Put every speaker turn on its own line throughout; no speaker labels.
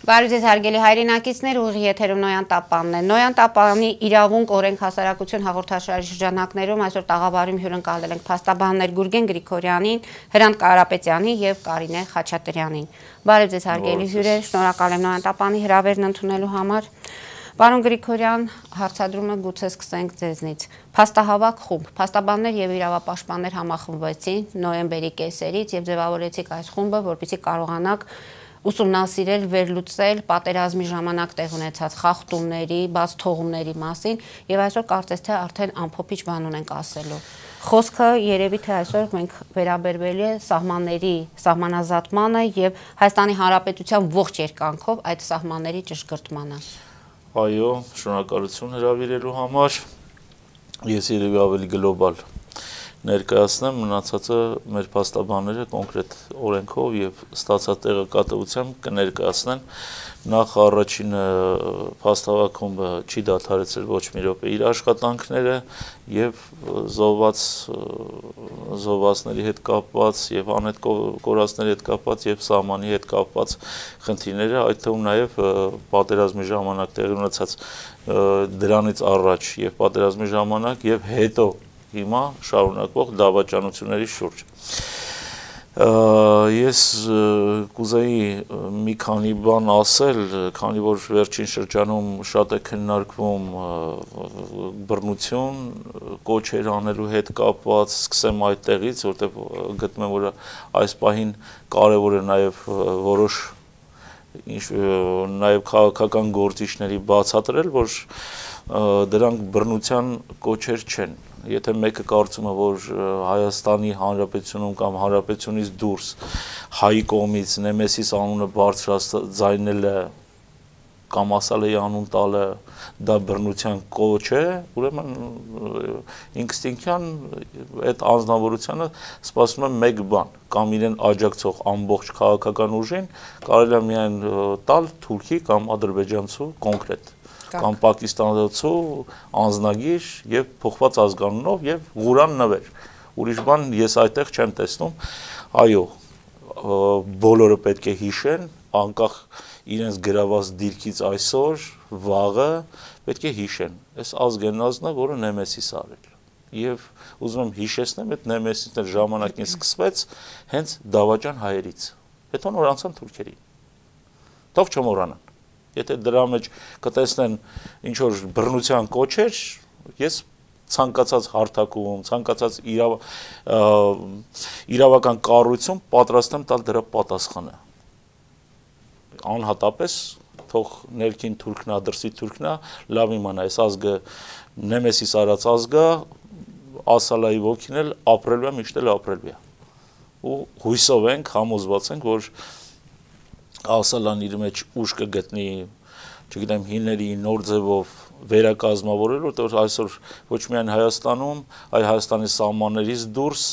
Բարև ձեզ հարգելի հայրենակիցներ, ուղիղ եթերում Նոյան Տապանն է։ Նոյան Տապանի իրավունք օրենք հասարակություն հաղորդաշարի շրջանակներում այսօր տաղավարում հյուրընկալել ենք փաստաբաններ Գուրգեն Գրիգորյանին, Հրանտ Կարապետյանին եւ Կարինե Խաչատրյանին։ Բարև ձեզ հարգելի հյուրեր, շնորհակալ եմ Նոյան Տապանի հրավերն ընդունելու համար։ Պարոն Գրիգորյան, հարցադրումը գուցե սկսենք ձեզնից։ Փաստահավաք խումբ, փաստաբաններ եւ իրավապաշտպաններ համախմբվեցին նոյեմբերի կեսերից եւ ձևավորեցիք այս խումբը, որպեսզի կարողանաք ուսումնասիրել, վերլուծել պատերազմի ժամանակ տեղ ունեցած խախտումների, բաց թողումների մասին եւ այսօր կարծես թե արդեն ամփոփիչ բան ունենք ասելու։ Խոսքը երևի թե այսօր մենք վերաբերվել է սահմանների սահմանազատմանը եւ Հայաստանի Հանրապետության ողջ երկայնքով այդ սահմանների ճշգրտմանը։
Այո, շնորհակալություն հրավիրելու համար։ Ես երևի ավելի գլոբալ ներկայացնեմ, մնացածը մեր փաստաբանները կոնկրետ օրենքով եւ ստացած տեղեկատվությամբ կներկայացնեն։ Նախ առաջինը փաստահավաք խումբը չի դադարեցրել ոչ մի րոպե իր աշխատանքները եւ զոհվածների հետ կապված եւ անհետ կորածների հետ կապված եւ սահմանի հետ կապված խնդիրները, այդ թվում նաեւ պատերազմի ժամանակ տեղի ունեցած դրանից առաջ եւ պատերազմի ժամանակ եւ հետո հիմա շարունակվող դավաճանությունների շուրջ։ Ես կուզեի մի քանի բան ասել, քանի որ վերջին շրջանում շատ է քննարկվում բռնություն, կոչեր անելու հետ կապված, սկսեմ այդտեղից, որտեղ գտնում եմ, որ այս պահին կարևոր է նաև որոշ նաև քաղաքական գործիչների բացատրել, որ դրանք բռնության կոչեր չեն։ Եթե մեկը կարծում է, որ Հայաստանի Հանրապետությունում կամ Հանրապետությունից դուրս հայի կողմից Նեմեսիս անունը բարձրաձայնելը կամ ասալեի անուն տալը դա բռնության կոչ է, ուրեմն ինստինկտյան այդ անձնավորությանը սպասում է մեկ բան, կամ իրեն աջակցող ամբողջ քաղաքական ուժին կարելի է միայն տալ թուրքի կամ ադրբեջանցու կոնկրետ կամ պակիստանցու անձնագիր եւ փոխված ազգանունով եւ ղուրան նվեր։ Ուրիշ բան ես այդտեղ չեմ տեսնում։ Այո, բոլորը պետք է հիշեն, անկախ իրենց գրաված դիրքից այսօր, վաղը պետք է հիշեն։ Այս ազգենազնը, որը Նեմեսիս արել։ Եվ ուզում եմ հիշեցնեմ, այդ Նեմեսիսն ժամանակին սկսվեց հենց դավաճան հայերից։ Հետո նոր անցան թուրքերին։ Թող չմոռանան։ Եթե դրա մեջ կտեսնեն ինչ որ բռնության կոչեր, ես ցանկացած հարթակում, ցանկացած իրավական կառույցում պատրաստ եմ տալ դրա պատասխանը։ Անհատապես թող ներքին թուրքնա, դրսի թուրքնա, լավ իմանա, այս ազգը Նեմեսիս արած ազգը, ասալայի ոգին էլ ապրելու է, միշտ էլ ապրելու է։ Ու հույսով ենք, համոզված ենք, որ ասալան իր մեջ ուժ կգտնի, չգիտեմ, հիների նոր ձևով վերակազմավորել, որտեղ այսօր ոչ միայն Հայաստանում, այլ Հայաստանի սահմաններից դուրս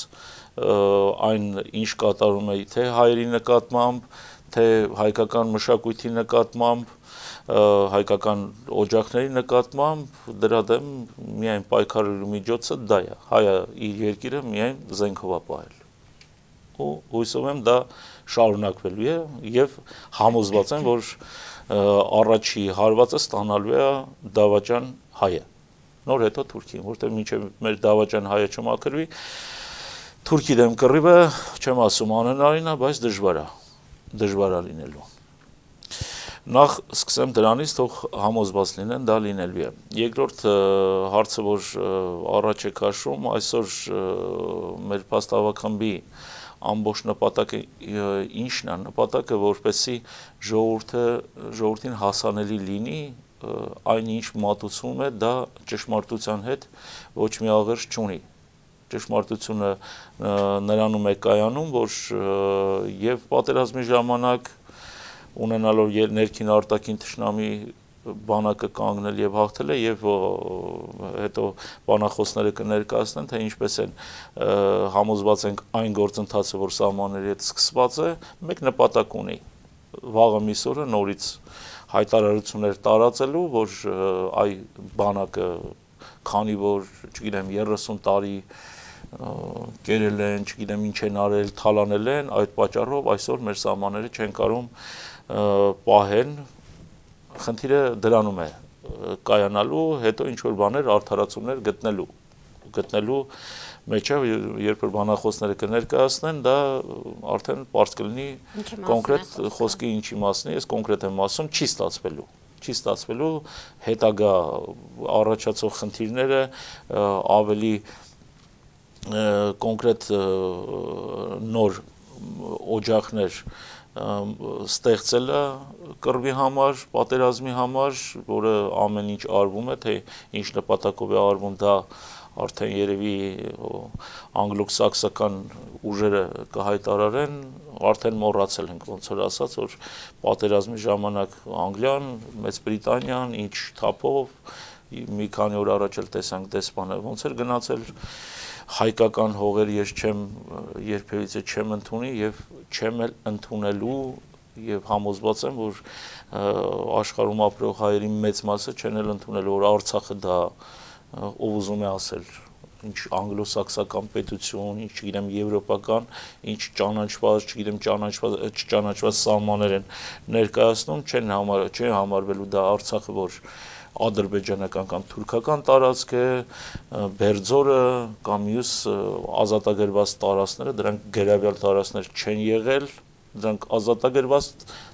այն ինչ կատարում է թե հայերի նկատմամբ, թե հայկական մշակույթի նկատմամբ, հայկական օջախների նկատմամբ, դրա դեմ միայն պայքարելու միջոցը դա է, հայը իր երկիրը միայն զենքով է պահել։ Ու հույսով եմ դա շարունակվելու է եւ համոզված եմ, որ առաջի հարվածը ստանալու է դավաճան հայը։ Նոր հետո Թուրքին, որտեղ մինչև մեր դավաճան հայը չմաքրվի, Թուրքի դեմ կռիվը, չեմ ասում անհնարին է, բայց դժվար է լինելու։ Նախ սկսեմ դրանից, թող համոզված լինեն, դա լինելու է։ Երկրորդ հարցը, որ առաջ է քաշում, այսօր մեր փաստահավաք խմբի ամբողջ նպատակը ինչն է, նպատակը որպեսզի ժողովրդին հասանելի լինի, այն ինչ մատուցվում է, դա ճշմարտության հետ ոչ մի աղերս չունի։ Ճշմարտությունը նրանում է կայանում, որ եւ պատերազմի ժամանակ ունենալով ներքին արտաքին թշնամի բանակը կանգնել եւ հաղթել է եւ հետո բանախոսները կներկայացնեն, թե ինչպես են համոզված ենք այն գործընթացը, որ սահմանների հետ սկսված է, մեկ նպատակ ունի։ Վաղը միսօրը նորից հայտարարություններ տարածելու, որ այ բանակը քանի որ, չգիտեմ, 30 տարի կերել են, չգիտեմ ինչ են արել, թալանել են, այդ պատճառով այսօր մեր սահմանները չեն կարող պահեն, խնդիրը դրանում է կայանալու, հետո ինչ-որ բաներ արդարացումներ գտնելու մեջ է, երբ որ բանախոսները կներկայացնեն, դա արդեն պարզ կլինի կոնկրետ խոսքի ինչի մասն է, ես կոնկրետ եմ ասում, չի ստացվելու հետագա առաջացող խնդիրները ավելի կոնկրետ նոր օջախներ ստեղծելը կռվի համար, պատերազմի համար, որը ամեն ինչ արվում է, թե ինչ նպատակով է արվում, դա արդեն երևի անգլո-սաքսական ուժերը կհայտարարեն, արդեն մոռացել ենք, ոնց որ ասած, որ պատերազմի ժամանակ Անգլիան, Մեծ Բրիտանիան, ինչ թափով, մի քանի օր առաջ էլ տեսանք դեսպանը, ոնց էր գնացել հայկական հողեր ես երբևիցե չեմ ընդունի եւ չեմ էլ ընդունելու եւ համոզված եմ, որ աշխարհում ապրող հայերի մեծ մասը չեն էլ ընդունելու, որ Արցախը դա ով ուզում է ասել, ինչ անգլո-սաքսական պետություն, ինչ չգիտեմ եվրոպական, ինչ ճանաչված, չգիտեմ չճանաչված սահմաններ են ներկայացնում, չեն համարվելու դա Արցախը, որ ադրբեջանական կամ թուրքական տարածք է, Բերձորը կամ մյուս ազատագրված տարածքները, դրանք գրավյալ տարածքներ չեն եղել, դրանք ազատագրված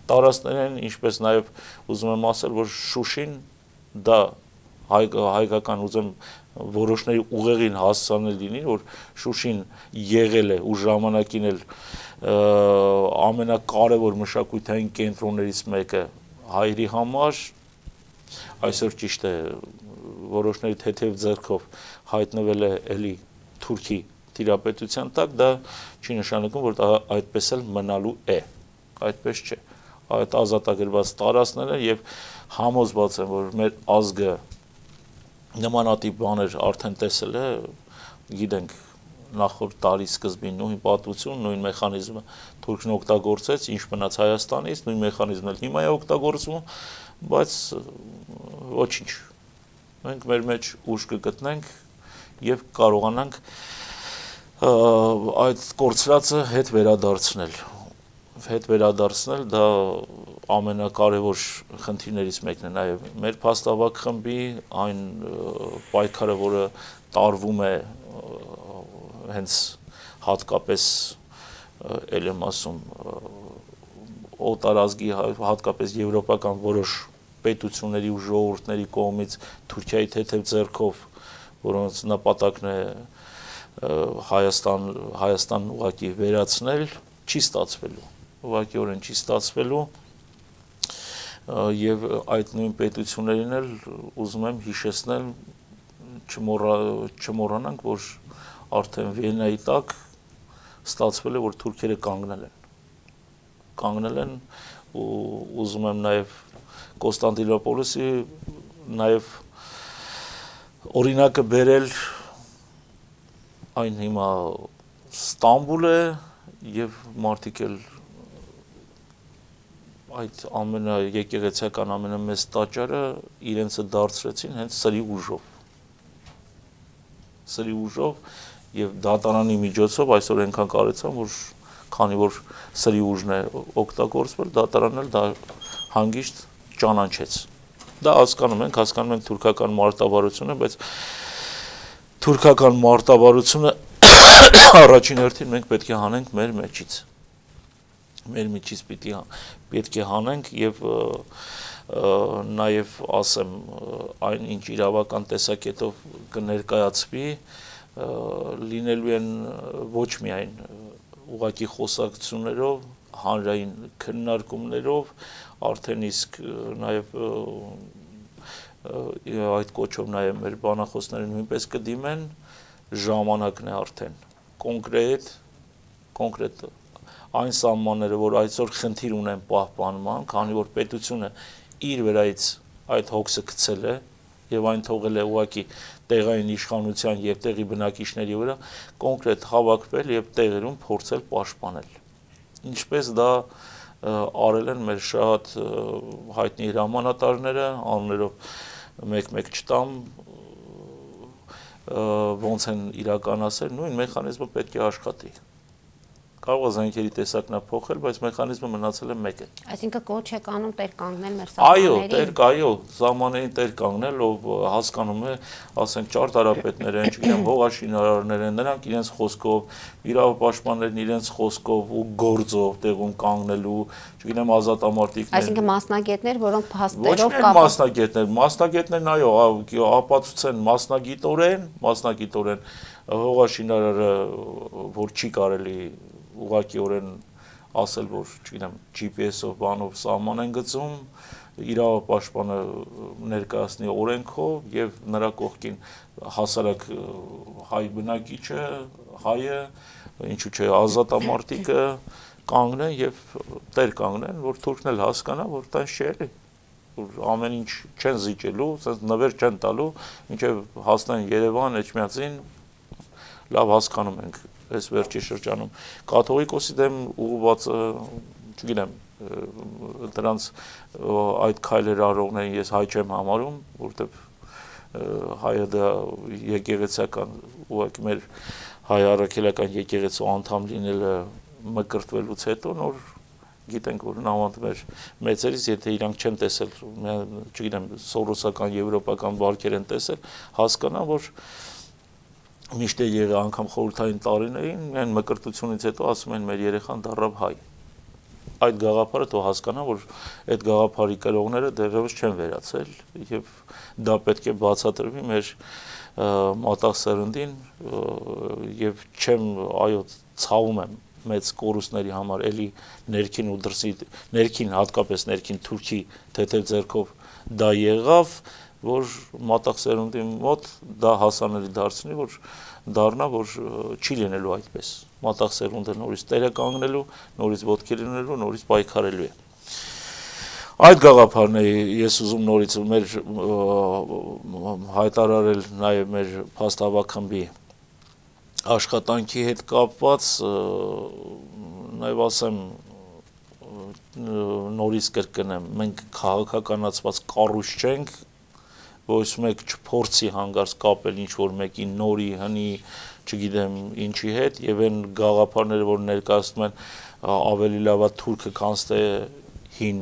տարածքներ են, ինչպես նաև ուզում եմ ասել, որ Շուշին դա հայկական ուզեմ որոշների ուղեղին հասցանել լինի, որ Շուշին եղել է ու ժամանակին էլ ամենակարևոր մշակութային կենտրոններից մեկը հայերի համար, այսօր ճիշտ է որոշների թեթև ձեռքով հայտնվել է էլի Թուրքի տիրապետության տակ, դա չի նշանակում, որ դա այդպես էլ մնալու է, այդպես չէ, այդ ազատագրված տարածքները եւ համոզված եմ, որ մեր ազգը նմանատիպ բաներ արդեն տեսել է, գիտենք նախորդ տարի սկզբին նույն պատմություն, նույն մեխանիզմը Թուրքն օգտագործեց, ինչ մնաց Հայաստանից, նույն մեխանիզմն էլ հիմա է օգտագործվում, բայց ոչինչ, մենք մեր մեջ ուժ կգտնենք եւ կարողանանք այդ կորցրածը հետ վերադարձնել, դա ամենակարևոր խնդիրներից մեկն է, նաեւ մեր փաստավակ խմբի այն պայքարը, որը տարվում է հենց հատկապես ել եմ ասում օտարազգի հատկապես եվրոպական որոշ պետությունների ու ժողովուրդների կողմից Թուրքիայի թեթև ձեռքով, որոնց նպատակն է Հայաստան ուղղակի վերացնել, չի ստացվելու, ուղղակիորեն չի ստացվելու եւ այդ նույն պետություններին էլ ուզում եմ հիշեցնել, չմոռանանք, որ արդեն Վիեննայի տակ ստացվել է, որ թուրքերը կանգնել են ու ուզում եմ նաև Կոստանդինոպոլիսի նաև օրինակը բերել, այն հիմա Ստամբուլ է եւ մարդիկ էլ այդ եկեղեցիական ամենամեծ տաճարը իրենցը դարձրեցին հենց սրի ուժով եւ դատարանի միջոցով այսօր այնքան կարեցան, որ քանի որ սրի ուժն է օգտագործվել, դատարանն էլ դա հանգիստ ճանաչեց։ Դա հասկանում ենք թուրքական մարտավարությունը, բայց թուրքական մարտավարությունը առաջին հերթին մենք պետք է հանենք մեր միջից պետք է հանենք եւ նաեւ ասեմ այն ինչ իրավական տեսակետով կներկայացվի լինելու են ոչ միայն ուղղակի խոսակցություններով, հանրային քննարկումներով, արդեն իսկ նաեւ այդ կոչով նաեւ մեր բանախոսները նույնպես կդիմեն, ժամանակն է արդեն կոնկրետ այն սահմանները, որ այսօր խնդիր ունեն պահպանման, քանի որ պետությունը իր վերայից այդ հոգսը գցել է եւ այն թողել է ուղղակի տեղային իշխանության եւ տեղի բնակիչների վրա, կոնկրետ հավաքվել եւ տեղերում փորձել պաշտպանել։ Ինչպես դա արել են մեր շատ հայտնի հրամանատարները, անուններով մեկ-մեկ չտամ, ոնց են իրականացել, նույն մեխանիզմը պետք է աշխատի։ կարող է զենքերի տեսակն փոխել, բայց մեխանիզմը մնացել է մեկը։
Այսինքն կոչ եք անում տեր կանգնել մեր
սահմաններին։ Այո, սահմաններին տեր կանգնել, ով հասկանում է, ասենք ճարտարապետներ են, չգիտեմ, հողաշինարարներ են, նրանք իրենց խոսքով, իրավապաշտպաններն իրենց խոսքով ու գործով տեղում կանգնելու, չգիտեմ, ազատամարտիկներ։
Այսինքն մասնագետներ, որոնք փաստերով
մասնագետներն այո, ապացուցեն մասնագիտորեն հողաշինարարը, որ չի կարելի ուղղակիորեն ասել, որ, չգիտեմ, GPS-ով բանով սահման են գծում, իրավապաշտպանը ներկայացնի օրենքով եւ նրա կողքին հասարակ հայ բնակիչը, հայը, ինչու՞ չէ, ազատամարտիկը կանգնեն եւ տեր կանգնեն, որ թուրքն էլ հասկանա, որ տես չէ էլի, որ ամեն ինչ չեն զիջելու, ասես նվեր չեն տալու, մինչեւ հասնեն Երևան, Էջմիածին, լավ հասկանում ենք այս վերջի շրջանում կաթողիկոսի դեմ ուղղված, չգիտեմ, դրանց այդ քայլեր արողներին ես հայ չեմ համարում, որտեղ հայը դա եկեղեցական ուղղակի մեր հայ առաքելական եկեղեցու անդամ լինելը մկրտվելուց հետո նոր գիտենք, որ նամանդ մեր մեծերից, եթե իրանք չեն տեսել, չգիտեմ, սորոսական, եվրոպական բարքեր են տեսել, հասկանա, որ միշտ է եղել անգամ խորհրդային տարիներին, միայն մկրտությունից հետո ասում են մեր երեխան դառավ հայ։ Այդ գաղափարը թող հասկանա, որ այդ գաղափարի կրողները դեռևս չեն վերացել եւ դա պետք է բացատրվի մեր մատաղ սերնդին եւ չեմ, այո, ցավում եմ մեծ կորուստների համար էլի ներքին ու դրսի, ներքին հատկապես ներքին Թուրքի թեթև ձեռքով դա եղավ, որ մատաղ սերունդի մոտ դա հասանելի դարձնի, որ դառնա, որ չի լինելու այդպես։ Մատաղ սերունդը նորից տերը կանգնելու, նորից ոտքի լինելու, նորից պայքարելու է։ Այդ գաղափարն է ես ուզում նորից մեր հայտարարել նաև մեր փաստավախ աշխատանքի հետ կապված, նաև ասեմ նորից կրկնեմ, մենք քաղաքականացված կառույց չենք, ոչ մեկ չփորձի հանգարց կապել ինչ-որ մեկի նորի, հնի, չգիտեմ ինչի հետ, եւ այն գաղափարները, որ ներկայացնում են ավելի լավա թուրքը քան թե հին,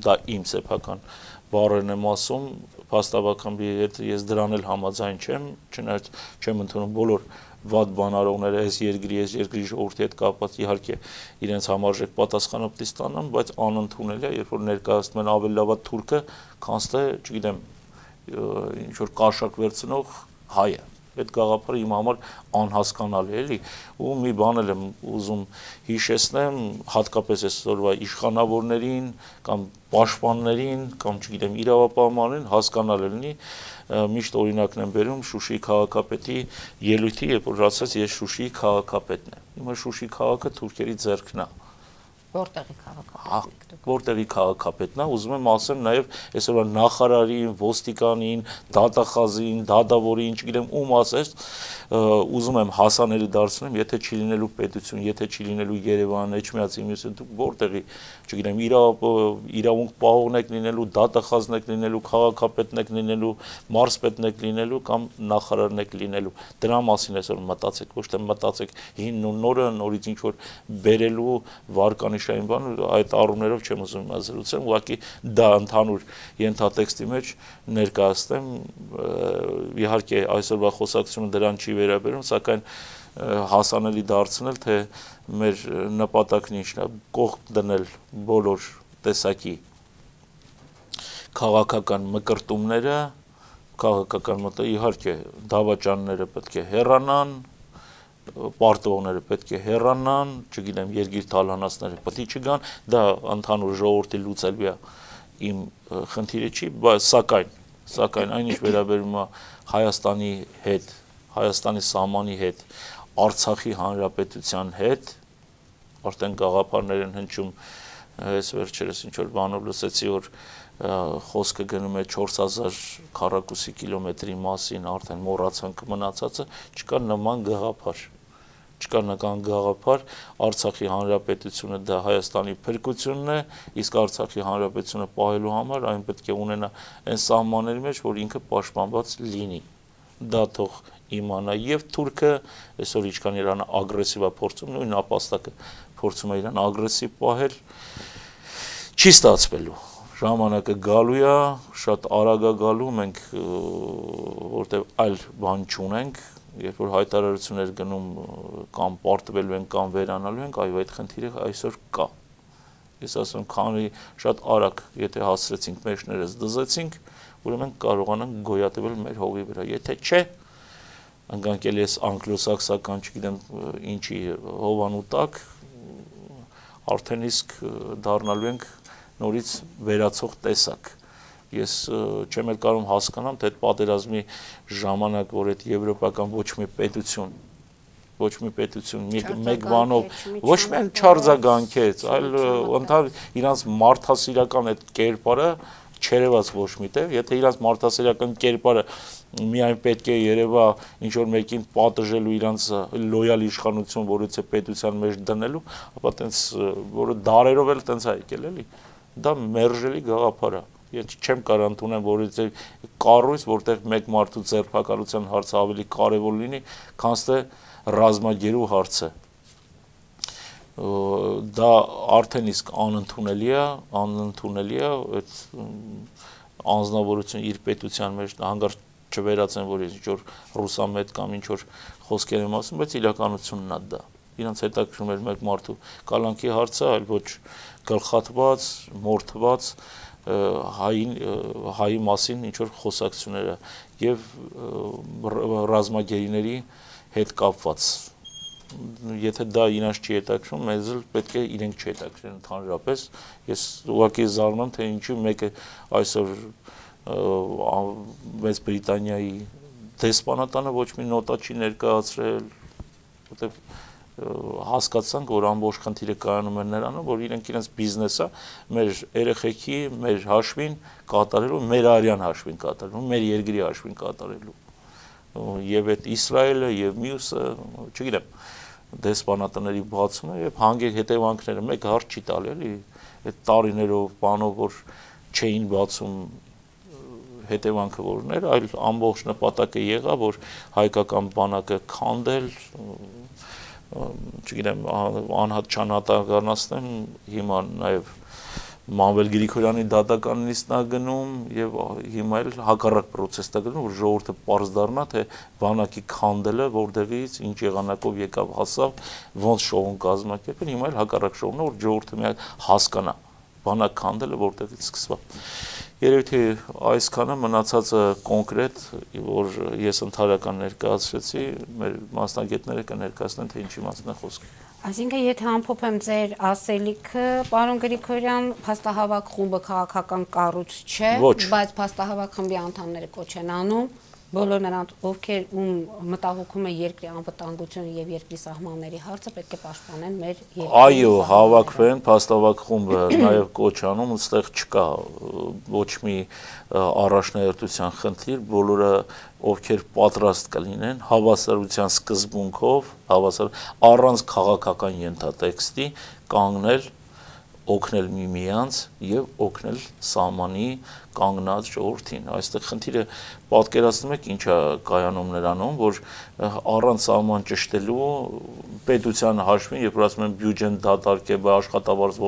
դա իմ սեփական բառերն եմ ասում, փաստաբակամի հետ ես դրան էլ համաձայն չեմ, չնայած չեմ ընդունում բոլոր վատ բանարողները այս երկրի ժողովրդի հետ կապված իհարկե իրենց համարժեք պատասխանը պետք է ստանան, բայց անընդունել է, երբ որ ներկայացնում են ավելի լավա թուրքը, քան թե, չգիտեմ, ինչ որ կաշակ վերցնող հայը։ Այդ գաղափարը իմ համար անհասկանալի է, էլի, ու մի բան էլ եմ ուզում հիշեցնեմ, հատկապես այսօրվա իշխանավորներին կամ պաշտպաններին կամ չգիտեմ իրավապահմաններին հասկանալ լինի, միշտ օրինակն եմ բերում Շուշիի քաղաքապետի ելույթի, երբ որ ասաց ես Շուշիի քաղաքապետն եմ։ Հիմա Շուշի քաղաքը թուրքերի ձեռքն է։
Որտեղի քաղաքապետն եք դուք։
Որտեղի քաղաքապետն է, ուզում եմ ասեմ նաև այսօրվա նախարարին, ոստիկանին, դատախազին, դատավորին, չգիտեմ ում ասես, ուզում եմ հասանելի դարձնեմ, եթե չի լինելու պետություն, եթե չի լինելու Երևան, Էջմիածին, մյուսը դուք որտեղի, չգիտեմ, իրավունք պահողն եք լինելու, դատախազն եք լինելու, քաղաքապետն եք լինելու, մարզպետն եք լինելու կամ նախարարն եք լինելու։ Դրա մասին այսօր մտածեք, ոչ թե մտածեք հինն ու նորը, նորից ինչ որ բերելու վարկանիշային բան, այդ առումներով չեմ ուզում զրուցեմ, ուղղակի դա ընդհանուր ենթատեքստի մեջ ներկայացնեմ, իհարկե այսօրվա խոսակցությունը դրան չի վերաբերում, սակայն հասանելի դարձնել, թե մեր նպատակն ինչն է, կողք դնել բոլոր տեսակի քաղաքական մկրտումները, քաղաքական իհարկե դավաճանները պետք է հեռանան, պարտվողները պետք է հեռանան, չգիտեմ, երկիր թալանացները պետք է չգան, դա ընդհանուր ժողովրդի լուծելվի իմ խնդիրը չի, սակայն այն ինչ վերաբերում է Հայաստանի հետ, Հայաստանի սահմանի հետ, Արցախի հանրապետության հետ, արդեն գաղափարներ են հնչում, այս վերջերս ինչ որ բանով լսեցի, որ խոսքը գնում է 4000 քառակուսի կիլոմետրի մասին, արդեն մոռացանք մնացածը, չկա նման գաղափար, Արցախի հանրապետությունը դա Հայաստանի փրկությունն է, իսկ Արցախի հանրապետությունը պահելու համար այն պետք է ունենա այն սահմանների մեջ, որ ինքը պաշտպանված լինի, դա թող իմանա եւ թուրքը այսօր ինչքան Իրանը ագրեսիվ է փորձում, նույն ապաստակը փորձում է Իրան ագրեսիվ պահել, չի ստացվելու։ Ժամանակը գալու է, շատ արագ է գալու, մենք որտեղ այլ բան չունենք, երբ որ հայտարարություններ գնում կամ պարտվելու են կամ վերանալու ենք, այո, այդ խնդիրը այսօր կա։ Ես ասում, քանի շատ արագ, եթե հասցրեցինք մեջներս դզեցինք, ուրեմն կարողանանք գոյատևել մեր հողի վրա, եթե չէ, ընկանկել ես անգլոսաքսական, չգիտեմ ինչի հովանու տակ, արդեն իսկ դառնալու ենք նորից վերացող տեսակ։ Ես չեմ էլ կարող հասկանամ, թե այդ պատերազմի ժամանակ, որ այդ եվրոպական ոչ մի պետություն մեկ բանով ոչ միայն չարձագանքեց, այլ ընդհանուր իրանց մարդասիրական այդ կերպարը չերևաց ոչ միտեղ, եթե իրանց մարդասիրական կերպարը միայն պետք է երևա ինչ որ մեկին պատժելու իրանց լոյալ իշխանություն, որից է պետության մեջ դնելու, ապա տենց որը դարերով էլ տենց է եկել էլի, դա մերժելի գաղափար է։ Ես չեմ կարող ընդունեմ, որ կառույց, որտեղ մեկ մարդու ձերբակալության հարցը ավելի կարևոր լինի, քան թե ռազմագերու հարցը։ Դա արդեն իսկ անընդունելի է, այդ անձնավորությունը իր պետության մեջ հանգարց չվերացեն, որ ինչ որ ռուսամետ կամ ինչ որ խոսքեր եմ ասում, բայց իրականությունն է դա։ Իրանց հետաքրքրում էր մեկ մարդու կալանքի հարցը, այլ ոչ գլխատված, մորթված հայի մասին ինչ որ խոսակցությունները եւ ռազմագերիների հետ կապված։ Եթե դա իրանց չի հետաքրքրում, մեզ էլ պետք է իրենք չհետաքրքրեն ընդհանրապես։ Ես ուղղակի զարմանում, թե ինչու մեկը այսօր Մեծ Բրիտանիայի դեսպանատանը ոչ մի նոտա չի ներկայացրել, որտեղ հասկացանք, որ ամբողջ խնդիրը կայանում է նրանում, որ իրենց բիզնեսը մեր երեխեքի, մեր հաշվին կատարելու, մեր արյան հաշվին կատարելու, մեր երկրի հաշվին կատարելու։ Եվ այդ Իսրայելը եւ մյուսը, չգիտեմ, դեսպանատների բացումը եւ հանգեք հետևանքները մեկ հարց չի տալի, էլի, այդ տարիներով բանով որ չէին բացում հետևանքը որներ, այլ ամբողջ նպատակը եղավ, որ հայկական բանակը քանդել, չգիտեմ, անհատ չանհատականացնեմ, հիմա նաև Մանվել Գրիգորյանի դատականնիստն է գնում եւ հիմա էլ հակառակ պրոցեսն է գնում, որ ժողովուրդը պարզ դառնա, թե բանակի քանդելը որտեղից, ինչ եղանակով եկավ, հասավ, ոնց շոուն կազմակերպել, հիմա էլ հակառակ շոուն է, որ ժողովուրդը միայն հասկանա, բանակ քանդելը որտեղից սկսավ։ Երևի թե այսքանը մնացածը կոնկրետ, որ ես ընդհանրական ներկայացրեցի, մեր մասնագետները կներկայացնեն, թե ինչի մասն է խոսքը։
Այսինքն, եթե ամփոփեմ ձեր ասելիքը, պարոն Գրիգորյան, փաստահավաք խումբը քաղաքական կառույց չէ, բայց փաստահավաք խմբի անդամները կոչ են անում, բոլոր նրանց, ովքեր մտահոգում է երկրի անվտանգությունը եւ երկրի սահմանների հարցը, պետք է պաշտպանեն մեր երկրի։ Այո,
հավաքվեն, փաստահավաք խումբը նաեւ կոչ անում, այստեղ չկա ոչ մի առաջնահերթության խնդիր, բոլորը ովքեր պատրաստ կլինեն հավասարության սկզբունքով, առանց քաղաքական ենթատեքստի կանգնել, օգնել միմյանց եւ օգնել սահմանի կանգնած ժողովրդին։ Այստեղ խնդիրը պատկերացնում եք ինչ է կայանում նրանում, որ առանց սահման ճշտելու պետության հաշվին, երբ որ ասում են բյուջեն դատարկե, աշխատավարձ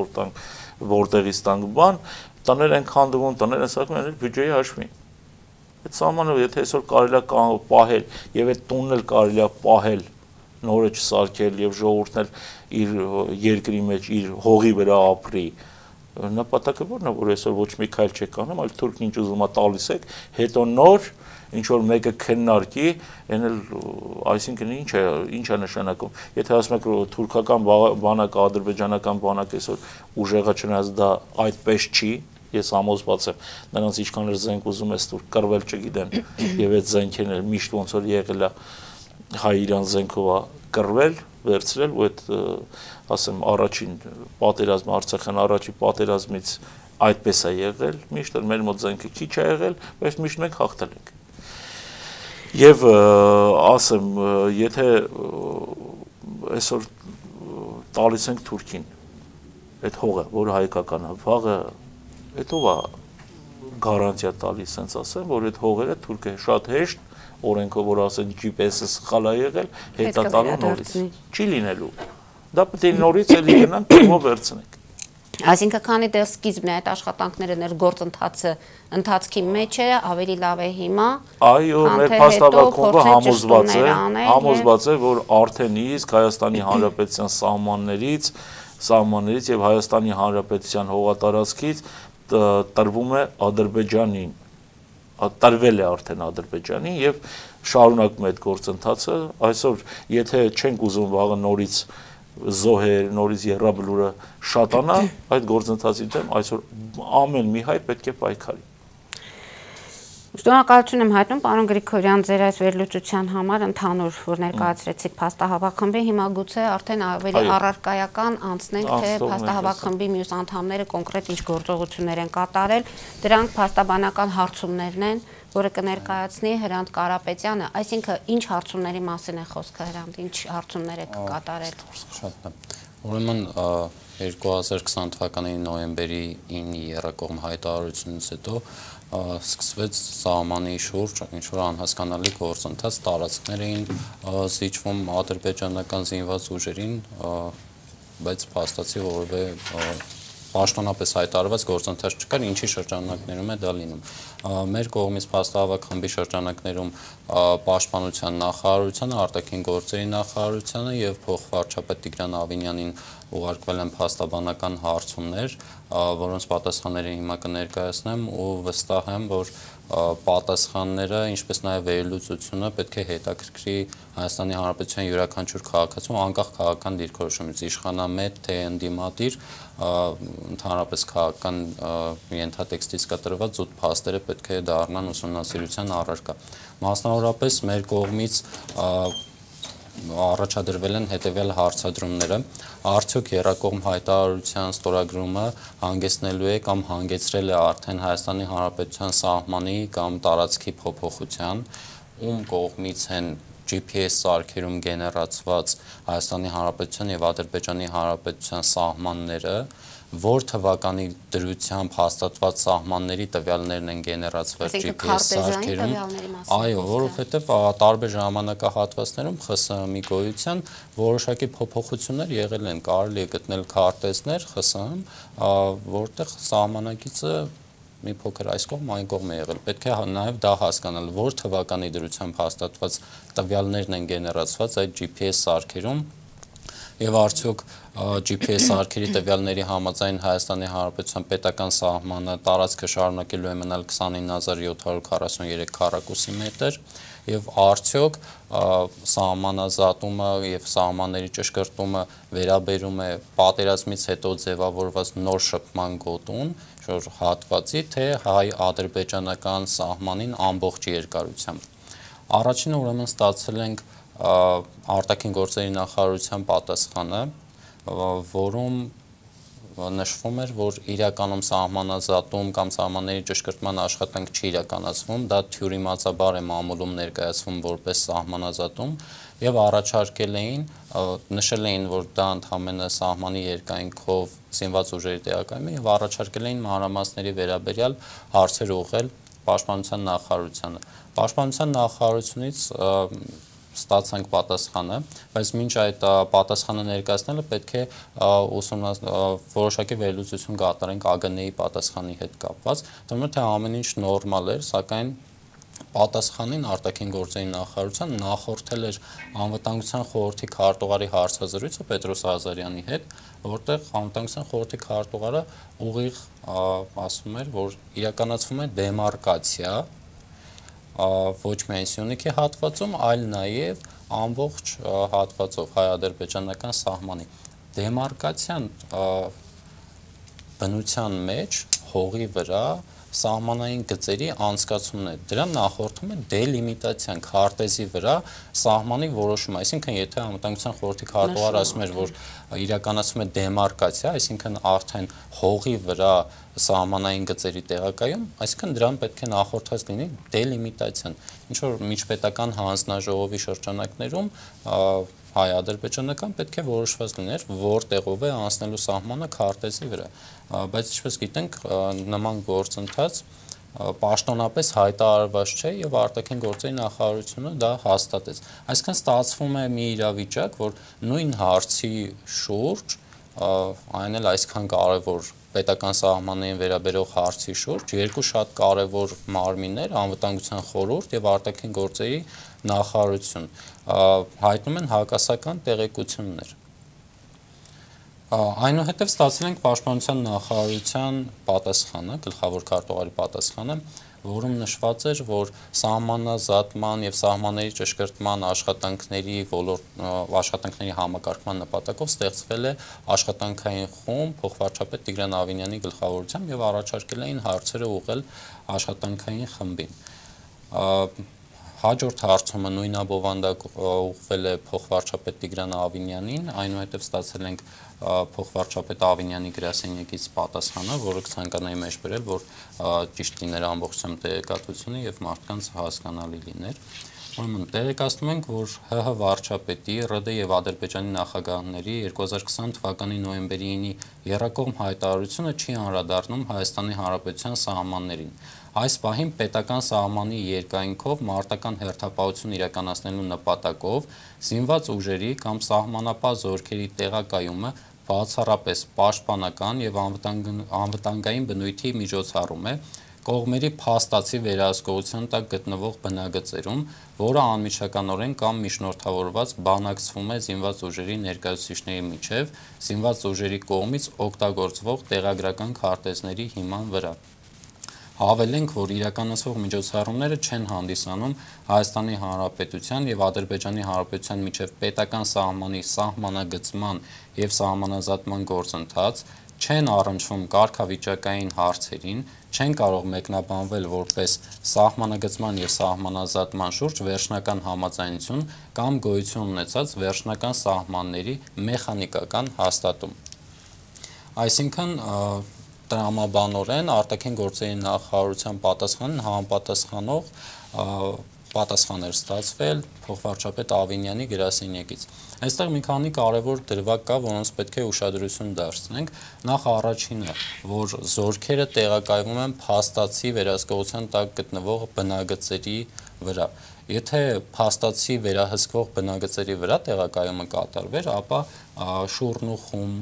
որտեղից տանք բան, տներ են քանդվում, տներ են սակում են բյուջեի հաշվին։ Այդ սահմանը եթե այսօր կարելի է պահել եւ այդ տունն էլ կարելի է պահել, նորը չսարքել եւ ժողովուրդն էլ իր երկրի մեջ իր հողի վրա ապրի, նպատակը որն է, որ այսօր ոչ մի քայլ չեք անում, այլ թուրքն ինչ ուզում է տալիս եք, հետո նոր ինչ որ մեկը քննարկի, այն էլ այսինքն ինչ է նշանակում։ Եթե ասում եք թուրքական բանակը, ադրբեջանական բանակը այսօր ուժեղա չնայած դա այդպես չի, ես համոզված եմ, նրանց ինչքան էլ զենք ուզում ես թուրք կռվել չգիտեն, եւ այդ զենքերն էլ միշտ ոնց որ եղել է հայ-իրան զենքով է կռվել, վերցրել ու այդ ասեմ առաջին պատերազմը, Արցախյան առաջի պատերազմից այդպես է եղել, միշտ էլ մեր մոտ զենքը քիչ է եղել, բայց միշտ մենք հաղթել ենք։ Եվ ասեմ, եթե այսօր տալիս ենք Թուրքին այդ հողը, որը հայկական է, վաղը այդ ով է գարանտիա տալիս, ասենց ասեմ, որ այդ հողերը թուրքը շատ հեշտ օրենքով որ ասեն GPS-ը սխալ է եղել, հետա տալու նորից։ Չի լինելու։ Դա պետք է նորից էլի գնանք փոխով վերցնենք։
Այսինքն քանի դեռ սկիզբն է այդ աշխատանքները ներգործընթացը ընթացքի մեջ է, ավելի լավ է հիմա։
Այո, մեր փաստավախումը համոզված է, որ արդեն իսկ Հայաստանի Հանրապետության սահմաններից եւ Հայաստանի Հանրապետության հողատարածքից տրվում է Ադրբեջանին, տրվել է արդեն Ադրբեջանին եւ շարունակում է այդ գործընթացը։ Այսօր եթե չենք ուզում վաղը նորից զոհեր, նորից եռաբլուրը շատանա, այդ գործընթացի դեմ այսօր ամեն մի հայ պետք է պայքարի։
Շնորհակալություն եմ հայտնում պարոն Գրիգորյան ձեր այս վերլուծության համար ընդհանուր, որ ներկայացրեցիք փաստահավաք խմբի, հիմա գուցե արդեն ավելի առարկայական անցնենք, թե փաստահավաք խմբի մյուս անդամները կոնկրետ ինչ գործողություններ են կատարել, դրանք փաստաբանական հարցումներն են, որը կներկայացնի Հրանտ Կարապետյանը, այսինքն ինչ հարցումների մասին է խոսքը Հրանտ, ինչ հարցումներ է կատարել։
Շատ լավ։ Ուրեմն 2020 թվականի նոյեմբերի 9-ի եռակողմ հայտարարությունից հետո սկսվեց սահմանի շուրջ ինչ-որ անհասկանալի գործընթաց, տարածքներ էին զիջվում ադրբեջանական զինված ուժերին, բայց փաստացի որևէ պաշտոնապես հայտարարված գործընթաց չկար, ինչի շրջանակներում է դա լինում։ Մեր կողմից փաստահավաք խմբի շրջանակներում պաշտպանության նախարարությանը, արտաքին գործերի նախարարությանը եւ փոխվարչապետ Տիգրան Ավինյանին ուղարկվել են փաստաբանական հարցումներ, որոնց պատասխանները հիմա կներկայացնեմ ու վստահ եմ, որ պատասխանները, ինչպես նաև վերլուծությունը պետք է հետաքրքրի Հայաստանի Հանրապետության յուրաքանչյուր քաղաքացու անկախ քաղաքական դիրքորոշումից, իշխանամետ թե ընդդիմադիր, ընդհանրապես քաղաքական ենթատեքստից կտրված զուտ փաստերը պետք է դառնան ուսումնասիրության առարկա։ Մասնավորապես մեր կողմից առաջադրվել են հետևյալ հարցադրումները. արդյոք եռակողմ հայտարարության ստորագրումը հանգեցնելու է կամ հանգեցրել է արդեն Հայաստանի Հանրապետության սահմանի կամ տարածքի փոփոխության, ում կողմից են GPS սարքերում գեներացված Հայաստանի Հանրապետության եւ Ադրբեջանի Հանրապետության սահմանները, որ թվականի դրությամբ հաստատված սահմանների տվյալներն են գեներացվել GPS սարքերում, այո, որովհետև տարբեր ժամանակահատվածներում ԽՍՀՄ-ի գոյության որոշակի փոփոխություններ եղել են, կարելի է գտնել քարտեզներ ԽՍՀՄ, որտեղ սահմանակիցը մի փոքր այս կողմ այն կողմ է եղել։ Պետք է նաև դա հասկանալ, որ թվականի դրությամբ հաստատված տվյալներն են գեներացված այդ GPS սարքերում եւ արդյոք GPS սարքերի տվյալների համաձայն Հայաստանի Հանրապետության պետական սահմանը տարածքը շարունակելու է մնալ 29743 քառակուսի մետր եւ արդյոք սահմանազատումը եւ սահմանների ճշգրտումը վերաբերում է պատերազմից հետո ձևավորված նոր շփման գոտուն, որ հատվածի թե հայ-ադրբեջանական սահմանին ամբողջ երկարությամբ։ Առաջինը ուրեմն ստացել ենք արտաքին գործերի նախարարության պատասխանը, որում նշվում էր, որ իրականում սահմանազատում կամ սահմանների ճշգրտման աշխատանք չի իրականացվում, դա թյուրիմացաբար է մամուլում ներկայացվում որպես սահմանազատում եւ առաջարկել էին, նշել էին, որ դա ընդհանրապես սահմանի երկայնքով զինված ուժերի տեղակայում է եւ առաջարկել էին մանրամասների վերաբերյալ հարցեր ուղղել Պաշտպանության նախարարությանը։ Պաշտպանության նախարարությունից ստացանք պատասխանը, բայց մինչ այդ պատասխանը ներկայացնելը պետք է որոշակի վերլուծություն կատարենք ԱԳՆ-ի պատասխանի հետ կապված, թվում է թե ամեն ինչ նորմալ էր, սակայն պատասխանին արտաքին գործերի նախարարության նախորդել էր անվտանգության խորհրդի քարտուղարի հարցազրույցը Պետրոս Ազարյանի հետ, որտեղ անվտանգության խորհրդի քարտուղարը ուղիղ ասում էր, որ իրականացվում է դեմարկացիա ոչ միայն Սյունիքի հատվածում, այլ նաև ամբողջ հատվածով հայ-ադրբեջանական սահմանի։ Դեմարկացիան բնության մեջ հողի վրա սահմանային գծերի անցկացումն է, դրան նախորդում է դելիմիտացիան քարտեզի վրա սահմանի որոշումը, այսինքն եթե անվտանգության խորհրդի քարտուղարը ասում էր, որ իրականացվում է դեմարկացիա, այսինքն արդեն հողի վրա սահմանային գծերի տեղակայում, այսինքն դրան պետք է նախորդած լինի դելիմիտացիան, ինչ որ միջպետական հանձնաժողովի շրջանակներում հայ-ադրբեջանական պետք է որոշված լիներ, որտեղով է անցնելու սահմանը քարտեզի վրա, բայց ինչպես գիտենք, նման գործընթաց պաշտոնապես հայտարարված չէ եւ արտաքին գործերի նախարարությունը դա հաստատեց։ Այսինքն ստացվում է մի իրավիճակ, որ նույն հարցի շուրջ, այն էլ այսքան կարևոր պետական սահմաններին վերաբերող հարցի շուրջ երկու շատ կարևոր մարմիններ, անվտանգության խորհուրդ եւ արտաքին գործերի նախարարություն հայտնում են հակասական տեղեկություններ։ Այնուհետև ստացել ենք պաշտպանության նախարարության պատասխանը, գլխավոր քարտուղարի պատասխանը, որում նշված էր, որ սահմանազատման եւ սահմանների ճշգրտման աշխատանքների համակարգման նպատակով ստեղծվել է աշխատանքային խումբ փոխվարչապետ Տիգրան Ավինյանի գլխավորությամբ եւ առաջարկել էին հարցերը ուղղել աշխատանքային խմբին։ Հաջորդ հարցումը նույնաբովանդակ ուղղվել է փոխվարչապետ Տիգրան Ավինյանին, այնուհետև ստացել ենք փոխվարչապետ Ավինյանի գրասենյակից պատասխանը, որը կցանկանայի մեջ բերել, որ ճիշտ լիներ ամբողջությամբ տեղեկատվությունը եւ մարդկանց հասկանալի լիներ։ Ուրեմն տեղեկացնում ենք, որ ՀՀ վարչապետի, ՌԴ եւ Ադրբեջանի նախագահների 2020 թվականի նոյեմբերի 9-ի եռակողմ հայտարարությունը չի անդրադառնում Հայաստանի Հանրապետության սահմաններին։ Այս պահին պետական սահմանի երկայնքով մարտական հերթապահություն իրականացնելու նպատակով զինված ուժերի կամ սահմանապահ զորքերի տեղակայումը բացառապես պաշտպանական եւ անվտանգային բնույթի միջոցառում է կողմերի փաստացի վերահսկողության տակ գտնվող բնագծերում, որը անմիջականորեն կամ միջնորդավորված բանակցվում է զինված ուժերի ներկայացուցիչների միջև զինված ուժերի կողմից օգտագործվող տեղագրական քարտեզների հիման վրա։ Հավելենք, որ իրականացվող միջոցառումները չեն հանդիսանում Հայաստանի Հանրապետության եւ Ադրբեջանի Հանրապետության միջև պետական սահմանի սահմանագծման եւ սահմանազատման գործընթաց, չեն առնչվում կարգավիճակային հարցերին, չեն կարող մեկնաբանվել որպես սահմանագծման եւ սահմանազատման շուրջ վերջնական համաձայնություն կամ գոյություն ունեցած վերջնական սահմանների մեխանիկական հաստատում։ Այսինքն տրամաբանորեն արտաքին գործերի նախարարության պատասխանին համապատասխանող պատասխան էր ստացվել փոխվարչապետ Ավինյանի գրասենյակից։ Այստեղ մի քանի կարևոր դրվագ կա, որոնց պետք է ուշադրություն դարձնենք։ Նախ առաջինը, որ զորքերը տեղակայվում են փաստացի վերահսկողության տակ գտնվող բնագծերի վրա։ Եթե փաստացի վերահսկվող բնագծերի վրա տեղակայումը կատարվեր, ապա Շուռնուխում,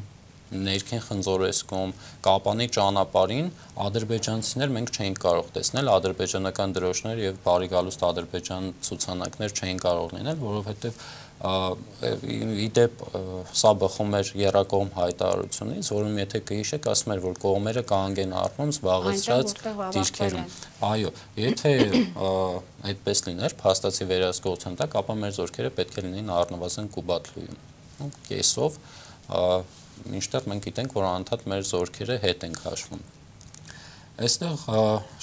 ներքին Խնձորեսկում, Կապանի ճանապարհին ադրբեջանցիներ մենք չէինք կարող տեսնել, ադրբեջանական դրոշներ եւ բարի գալուստ Ադրբեջան ցուցանակներ չէին կարող լինել, որովհետեւ իդեպ սա բխում էր եռակողմ հայտարարությունից, որում եթե կհիշեք, ասում էր, որ կողմերը կանգեն առնում զբաղեցրած դիրքերում։ Այո, եթե այդպես լիներ, փաստացի վերահսկողության տակ, ապա մեր զորքերը պետք է լինեին առնվազն Կուբաթլույում։ Կեսով մինչդեռ մենք գիտենք, որ անդադ մեր զորքերը հետ են քաշվում։ Այստեղ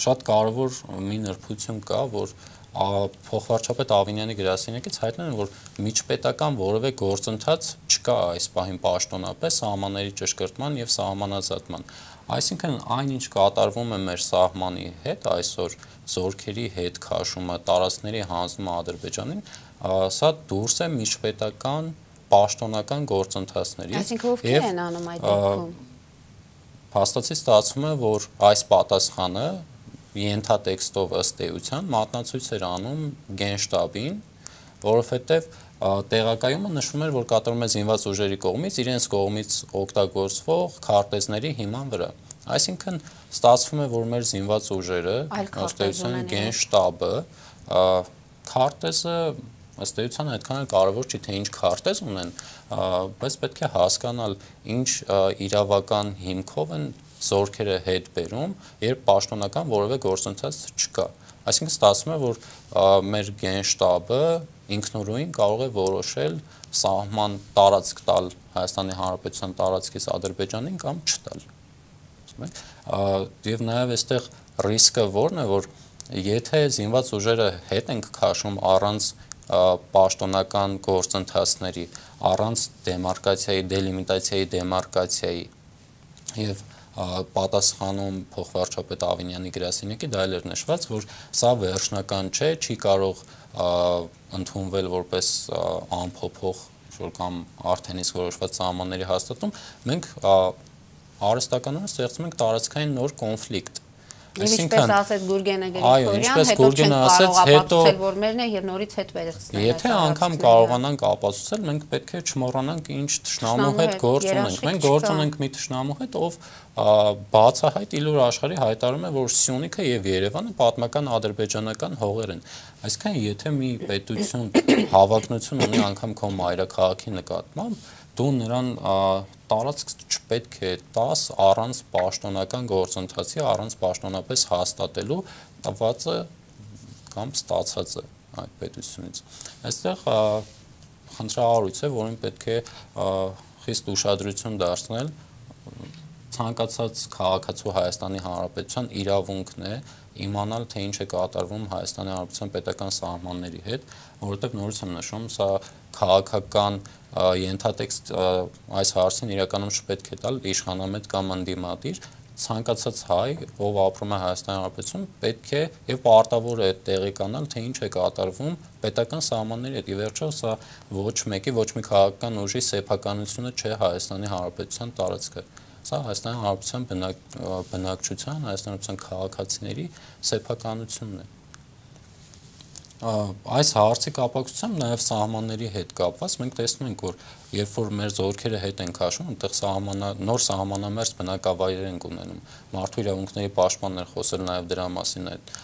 շատ կարևոր մի նրբություն կա, որ փոխվարչապետ Ավինյանի գրասենյակից հայտնել են, որ միջպետական որևէ գործընթաց չկա այս պահին պաշտոնապես սահմանների ճշգրտման եւ սահմանազատման։ Այսինքն այնինչ կատարվում է մեր սահմանի հետ այսօր զորքերի հետ քաշումը, տարածքների հանձնումը Ադրբեջանին, սա դուրս է միջպետական պաշտոնական գործընթացներից։
Այսինքն ովքեր են անում այդ դեպքում։
Փաստացի ստացվում է, որ այս պատասխանը ենթատեքստով ըստ էության մատնացույց էր անում Գենշտաբին, որովհետև տեղակայումը նշվում էր, որ կատարվում է զինված ուժերի կողմից իրենց կողմից օգտագործվող քարտեզների հիման վրա։ Այսինքն ստացվում է, որ մեր զինված ուժերը ըստ էության Գենշտաբը քարտեզը ըստ էության այդքան էլ կարևոր չի, թե ինչ քարտեզ ունեն, բայց պետք է հասկանալ ինչ իրավական հիմքով են զորքերը հետ բերում, երբ պաշտոնական որևէ գործընթաց չկա։ Այսինքն ստացվում է, որ մեր Գենշտաբը ինքնուրույն կարող է որոշել սահման տարածք տալ Հայաստանի Հանրապետության տարածքից Ադրբեջանին կամ չտալ։ Եվ նաև այստեղ ռիսկը որն է, որ եթե զինված ուժերը հետ ենք քաշում առանց պաշտոնական գործընթացների, առանց դեմարկացիայի, դելիմիտացիայի, դեմարկացիայի եւ պատասխանում փոխվարչապետ Ավինյանի գրասենյակի դա էլ էր նշված, որ սա վերջնական չէ, չի կարող ընդունվել որպես անփոփոխ կամ արդեն իսկ որոշված սահմանների հաստատում, մենք արհեստականորեն ստեղծում ենք տարածքային նոր կոնֆլիկտ,
Եվ ինչպես ասեց Գուրգենը Գրիգորյան,
հետո չենք կարող
ապացուցել, որ մերն է եւ նորից հետ վերցնել։
Եթե անգամ կարողանանք ապացուցել, մենք պետք է չմոռանանք ինչ թշնամու հետ գործ ունենք։ Մենք գործ ունենք մի թշնամու հետ, ով բացահայտ իլուր աշխարհի հայտարարում է, որ Սյունիքը եւ Երևանը պատմական ադրբեջանական հողեր են։ Այսինքն, եթե մի պետություն հավակնություն ունի անգամ քո մայրաքաղաքի նկատմամբ, դու նրան տարածք չպետք է տաս առանց պաշտոնական գործընթացի, առանց պաշտոնապես հաստատելու տվածը կամ ստացածը այդ պետությունից։ Այստեղ խնդրահարույց է, որին պետք է խիստ ուշադրություն դարձնել ցանկացած քաղաքացու Հայաստանի Հանրապետության իրավունքն է իմանալ, թե ինչ է կատարվում Հայաստանի Հանրապետության պետական սահմանների հետ, որովհետև նորից եմ նշում, սա քաղաքական ենթատեքստ այս հարցին իրականում չպետք է տալ իշխանամետ կամ ընդդիմադիր, ցանկացած հայ, ով ապրում է Հայաստանի Հանրապետությունում, պետք է եւ պարտավոր է տեղեկանալ, թե ինչ է կատարվում պետական սահմանների հետ։ Ի վերջո, սա ոչ մեկի, ոչ մի քաղաքական ուժի սեփականությունը չէ Հայաստանի Հանրապետության տարածքը։ Սա Հայաստանի Հանրապետության բնակչության, Հայաստանի Հանրապետության քաղաքացիների սեփականությունն է։ Այս հարցի կապակցությամբ նաև սահմանների հետ կապված մենք տեսնում ենք, որ երբ որ մեր զորքերը հետ են քաշում, այնտեղ նոր սահմանամերձ բնակավայրեր են ունենում։ Մարդու իրավունքների պաշտպաններ խոսել նաև դրա մասին այդ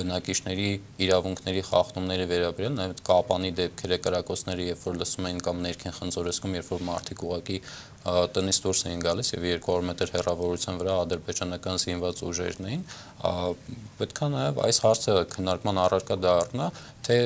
բնակիչների իրավունքների խախտումների վերաբերյալ, նաև կապանի դեպքերը, կրակոցները, երբ որ լսում էին կամ ներքին խնձորեսկում, երբ որ մարդիկ ուղղակի տնից դուրս էին գալիս եւ 200 մետր հեռավորության վրա ադրբեջանական զինված ուժերն էին, պետք է նաեւ այս հարցը քննարկման առարկա դառնա, թե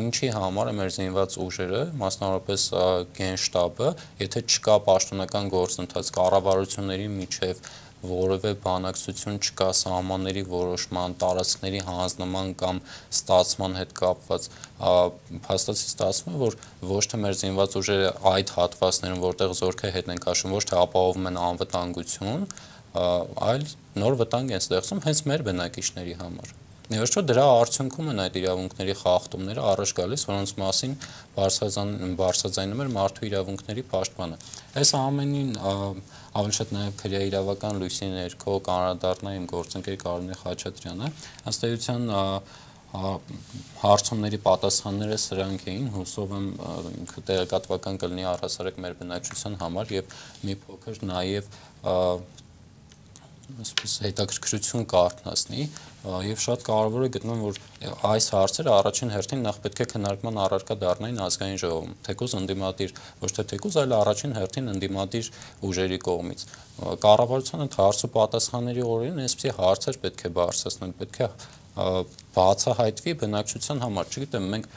ինչի համար է մեր զինված ուժերը, մասնավորապես գենշտաբը, եթե չկա պաշտոնական գործընթաց, կառավարությունների միջև որևէ բանակցություն չկա սահմանների որոշման, տարածքների հանձնման կամ ստացման հետ կապված, փաստացի ստացվում է, որ ոչ թե մեր զինված ուժերը այդ հատվածներում, որտեղ զորքը հետ են քաշում, ոչ թե ապահովում են անվտանգություն, այլ նոր վտանգ են ստեղծում հենց մեր բնակիչների համար։ Ներողություն, դրա արդյունքում են այդ իրավունքների խախտումները առաջ գալիս, որոնց մասին բարձրաձայնում էր մարդու իրավունքների պաշտպանը։ Այս ամենին ավելի շատ նաև քրեաիրավական լույսի ներքո կանրադառնա իմ գործընկեր Կարինե Խաչատրյանը, ըստ էության հարցումների պատասխանները սրանք էին, հուսով եմ ինքը տեղեկատվական կլինի առհասարակ մեր բնակչության համար եւ մի փոքր նաև հետաքրքրություն կարթնացնի եւ շատ կարեւոր է գտնում, որ այս հարցերը առաջին հերթին նախ պետք է քննարկման առարկա դառնային ազգային ժողովում, թեկուզ ընդդիմադիր, ոչ թե թեկուզ, այլ առաջին հերթին ընդդիմադիր ուժերի կողմից։ Կառավարության այդ հարց ու պատասխանների օրերին այսպիսի հարցեր պետք է բարձրացնել, պետք է բացահայտվի բնակչության համար, չգիտեմ, մենք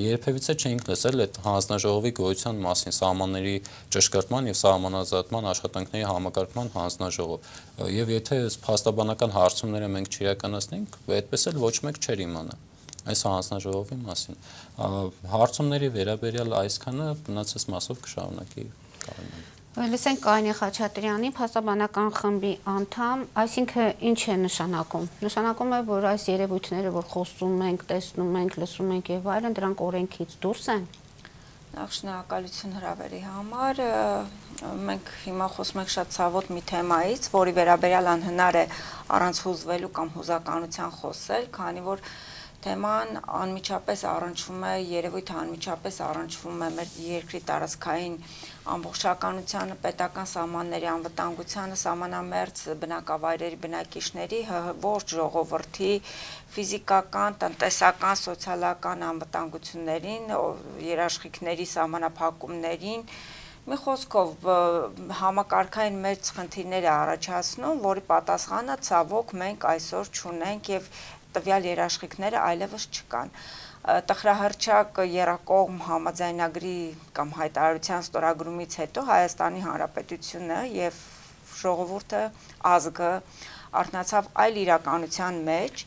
երբևիցե չենք լսել այդ հանձնաժողովի գոյության մասին, սահմանների ճշգրտման եւ սահմանազատման աշխատանքների համակարգման հանձնաժողով։ Եվ եթե փաստաբանական հարցումները մենք չիրականացնենք, այդպես էլ ոչ մեկ չէր իմանա այս հանձնաժողովի մասին։ Հարցումների վերաբերյալ այսքանը մնացած մասով կշարունակի Կարինեն։
Լսենք Կարինե Խաչատրյանի, փաստաբանական խմբի անդամ, այսինքն ինչ է նշանակում։ Նշանակում է, որ այս երևույթները, որ խոսում ենք, տեսնում ենք, լսում ենք եւ այլն, դրանք օրենքից դուրս են։
Նախ շնորհակալություն հրավերի համար։ Մենք հիմա խոսում ենք շատ ցավոտ մի թեմայից, որի վերաբերյալ անհնար է առանց հուզվելու կամ հուզականության խոսել, քանի որ թեման անմիջապես առնչվում է, երևույթը անմիջապես առնչվում է մեր երկրի տարածքային ամբողջականությանը, պետական սահմանների անվտանգությանը, սահմանամերձ բնակավայրերի բնակիչների, ողջ ժողովրդի ֆիզիկական, տնտեսական, սոցիալական անվտանգություններին, երաշխիքների սահմանափակումներին, մի խոսքով համակարգային մեծ խնդիրներ է առաջացնում, որի պատասխանը ցավոք մենք այսօր չունենք եւ տվյալ երաշխիքները այլևս չկան։ Տխրահռչակ եռակողմ համաձայնագրի կամ հայտարարության ստորագրումից հետո Հայաստանի Հանրապետությունը եւ ժողովուրդը, ազգը արթնացավ այլ իրականության մեջ,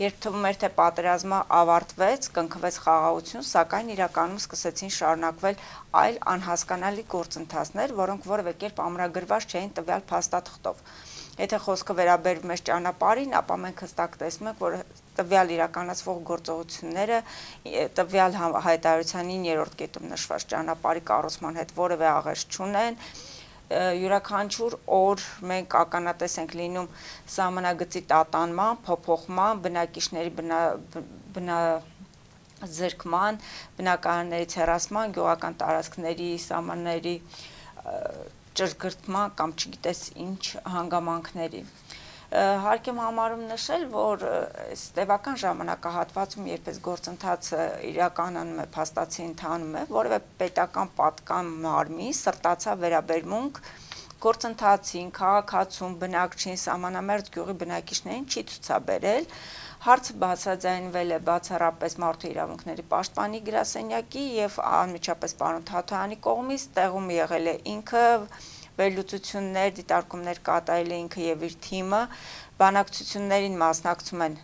երբ թվում էր թե պատերազմը ավարտվեց, կնքվեց խաղաղություն, սակայն իրականում սկսեցին շարունակվել այլ անհասկանալի գործընթացներ, որոնք որևէ կերպ ամրագրված չէին տվյալ փաստաթղթով։ Եթե խոսքը վերաբերում է ճանապարհին, ապա մենք հստակ տեսնում ենք, որ տվյալ իրականացվող գործողությունները տվյալ հայտարարության 9-րդ կետում նշված ճանապարհի կառուցման հետ որևէ աղերս չունեն, յուրաքանչյուր օր մենք ականատես ենք լինում սահմանագծի տատանման, փոփոխման, բնակիչների զրկման, բնակարաններից հեռացման, գյուղական տարածքների սահմանների ճշգրտման կամ չգիտես ինչ հանգամանքների։ Հարկ եմ համարում նշել, որ այս տևական ժամանակահատվածում, երբ այս գործընթացը իրականանում է, փաստացի ընթանում է, որևէ պետական պատկան մարմին սրտացավ վերաբերմունք գործընթացին, քաղաքացուն, բնակչին, սահմանամերձ գյուղի բնակիչներին չի ցուցաբերել։ Հարցը բացաձայնվել է բացառապես Մարդու իրավունքների պաշտպանի գրասենյակի եւ անմիջապես պարոն Թաթոյանի կողմից, տեղում եղել է ինքը, վերլուծություններ, դիտարկումներ կատարել է ինքը եւ իր թիմը, բանակցություններին մասնակցում են,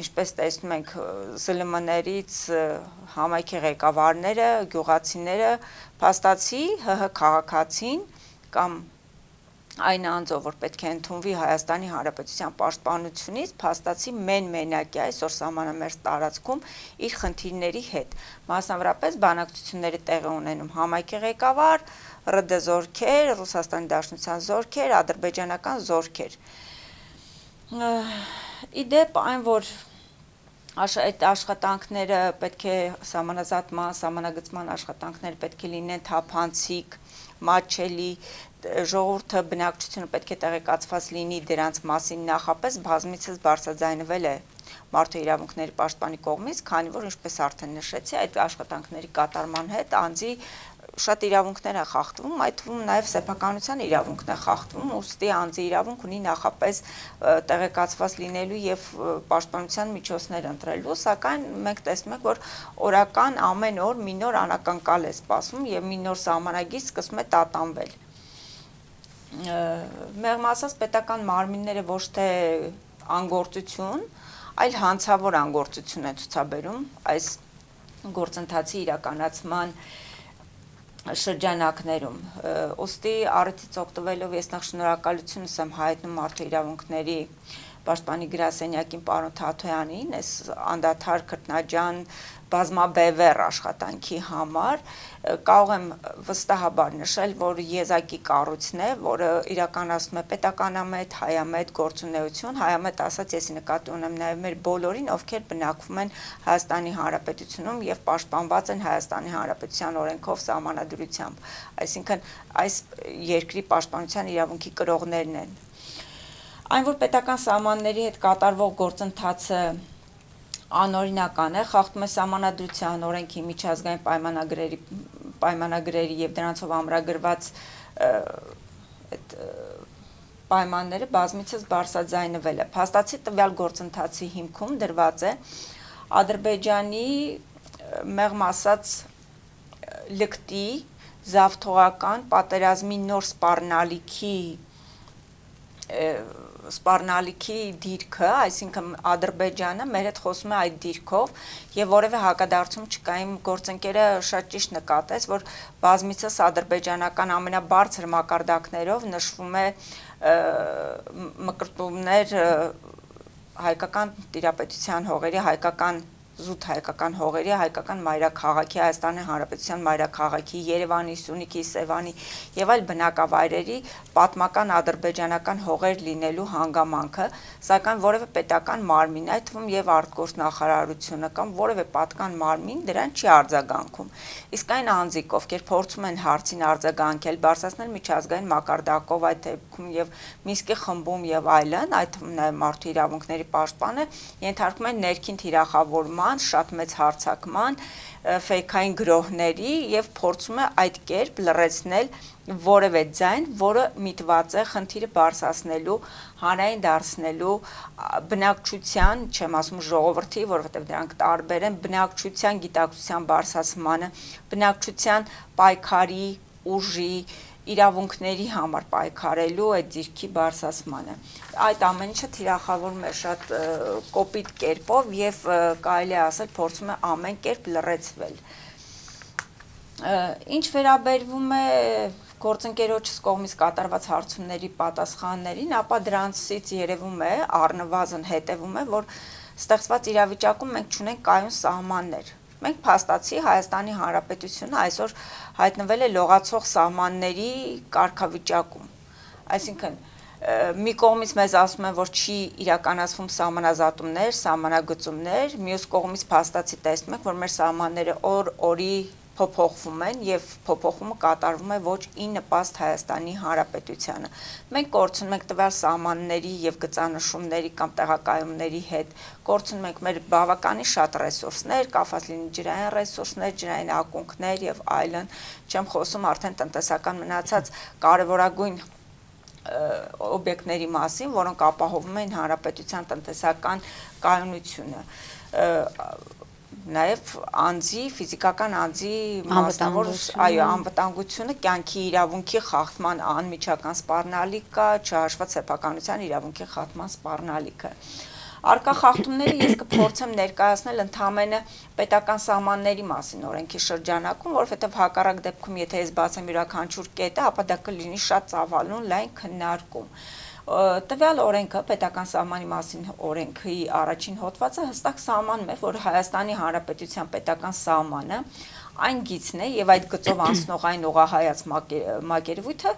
ինչպես տեսնում ենք, ԶԼՄ-ներից համայնքի ղեկավարները, գյուղացիները, փաստացի ՀՀ քաղաքացին կամ այն անձով, որ պետք է ընդունվի Հայաստանի Հանրապետության պաշտպանությունից, փաստացի մենակ է այսօր սահմանամերձ տարածքում իր խնդիրների հետ։ Մասնավորապես բանակցությունները տեղի ունենում համայնքի ղեկավար, ՌԴ զորքեր, Ռուսաստանի Դաշնության զորքեր, ադրբեջանական զորքեր։ Իդեպ այն, որ այդ աշխատանքները պետք է սահմանազատման, սահմանագծման աշխատանքները պետք է լինեն թափանցիկ, մատչելի, ժողովուրդը բնակչությունը պետք է տեղեկացված լինի դրանց մասին նախապես բազմիցս բարձրաձայնվել է Մարդու իրավունքների պաշտպանի կողմից, քանի որ ինչպես արդեն նշեցի, այդ աշխատանքների կատարման հետ անձի շատ իրավունքներ են խախտվում, այդ թվում նաև սեփականության իրավունքն է խախտվում, ուստի անձի իրավունք ունի նախապես տեղեկացված լինելու եւ պաշտպանության միջոցներ ընտրելու, սակայն մենք տեսնում ենք, որ օրական ամեն օր մի նոր անակնկալ է սպասվում եւ մի նոր սահմանագիր սկսում է տատանվել։ Մեղմ ասած, պետական մարմինները ոչ թե անգործություն, այլ հանցավոր անգործություն են ցուցաբերում այս գործընթացի իրականացման շրջանակներում։ Ոստի առիթից օգտվելով ես նախ շնորհակալություն եմ հայտնում Մարդու իրավունքների պաշտպանի գրասենյակին պարոն Թաթոյանին, այս անդադար քրտնաջան բազմաբևեռ աշխատանքի համար, կարող եմ վստահաբար նշել, որ եզակի կառույցն է, որը իրականացնում է պետականամետ, հայամետ գործունեություն, հայամետ ասած ես նկատի ունեմ նաև մեր բոլորին, ովքեր բնակվում են Հայաստանի Հանրապետությունում եւ պաշտպանված են Հայաստանի Հանրապետության օրենքով, սահմանադրությամբ, այսինքն այս երկրի պաշտպանության իրավունքի կրողներն են։ Այն, որ պետական սահմանների հետ կատարվող գործընթացը անօրինական է, խախտում է սահմանադրության, օրենքի, միջազգային պայմանագրերի եւ դրանցով ամրագրված այդ պայմանները բազմիցս բարձրաձայնվել է։ Փաստացի տվյալ գործընթացի հիմքում դրված է Ադրբեջանի մեղմ ասած լկտի զավթողական պատերազմի նոր սպառնալիքի դիրքը, այսինքն Ադրբեջանը մեր հետ խոսում է այդ դիրքով եւ որևէ հակադարձում չկա։ Իմ գործընկերը շատ ճիշտ նկատեց, որ բազմիցս ադրբեջանական ամենաբարձր մակարդակներով նշվում է մկրտումներ հայկական տիրապետության հողերի, հայկական զուտ հայկական հողերի, հայկական մայրաքաղաքի, Հայաստանի Հանրապետության մայրաքաղաքի, Երևանի, Սյունիքի, Սևանի եւ այլ բնակավայրերի պատմական ադրբեջանական հողեր լինելու հանգամանքը, սակայն որևէ պետական մարմին, այդ թվում եւ արտգործնախարարությունը կամ որևէ պատկան մարմին դրան չի արձագանքում։ Իսկ այն անձիկ, ովքեր փորձում են հարցին արձագանքել, բարձրացնել միջազգային մակարդակով, այդ դեպքում եւ Մինսկի խմբում եւ այլն, այդ թվում նաեւ Մարդու իրավունքների պաշտպանը, ենթարկում են ներքին թիրախավորման, շատ մեծ հարձակման, ֆեյքային գրոհների եւ փորձում է այդ կերպ լրացնել որևէ ձայն, որը միտված է խնդիրը բարձրացնելու, հանրային դարձնելու բնակչության, չեմ ասում ժողովրդի, որովհետեւ դրանք տարբեր են, բնակչության գիտակցության բարձրացմանը, բնակչության պայքարի, ուժի, իրավունքների համար պայքարելու այդ դիրքի բարձրացմանը։ Այդ ամեն ինչը թիրախավորում է շատ կոպիտ կերպով եւ կարելի է ասել փորձում է ամեն կերպ լրացվել։ Ինչ վերաբերվում է գործընկերոջս կողմից կատարված հարցումների պատասխաններին, ապա դրանցից երևում է, առնվազն հետևում է, որ ստեղծված իրավիճակում մենք չունենք կայուն սահմաններ։ Մենք փաստացի Հայաստանի Հանրապետությունը այսօր հայտնվել է լողացող սահմանների կարգավիճակում։ Այսինքն մի կողմից մեզ ասում են, որ չի իրականացվում սահմանազատումներ, սահմանագծումներ, մյուս կողմից փաստացի տեսնում ենք, որ մեր սահմանները օր-օրի փոփոխվում են եւ փոփոխումը կատարվում է ոչ ի նպաստ Հայաստանի Հանրապետությանը։ Մենք կորցնում ենք տվյալ սահմանների եւ գծանշումների կամ տեղակայումների հետ, կորցնում ենք մեր բավականին շատ ռեսուրսներ, կապված լինի ջրային ռեսուրսներ, ջրային ակունքներ եւ այլն, չեմ խոսում արդեն տնտեսական մնացած կարևորագույն օբյեկտների մասին, որոնք ապահովում են հանրապետության տնտեսական կայունությունը, նաև անձի, ֆիզիկական անձի մասնավոր, այո, անվտանգությունը, կյանքի իրավունքի խախտման անմիջական սպառնալիք կա, չհաշված սեփականության իրավունքի խախտման սպառնալիքը։ Արկա խախտումները ես կփորձեմ ներկայացնել ընդհանրապես պետական սահմանների մասին օրենքի շրջանակում, որովհետև հակառակ դեպքում, եթե ես բացեմ յուրաքանչյուր կետը, ապա դա կլինի շատ ծավալուն լայն քննարկում։ Տվյալ օրենքը, պետական սահմանի մասին օրենքի առաջին հոդվածը հստակ սահմանում է, որ Հայաստանի Հանրապետության պետական սահմանը այն գիծն է եւ այդ գծով անցնող այն ուղղահայաց մակերևույթը,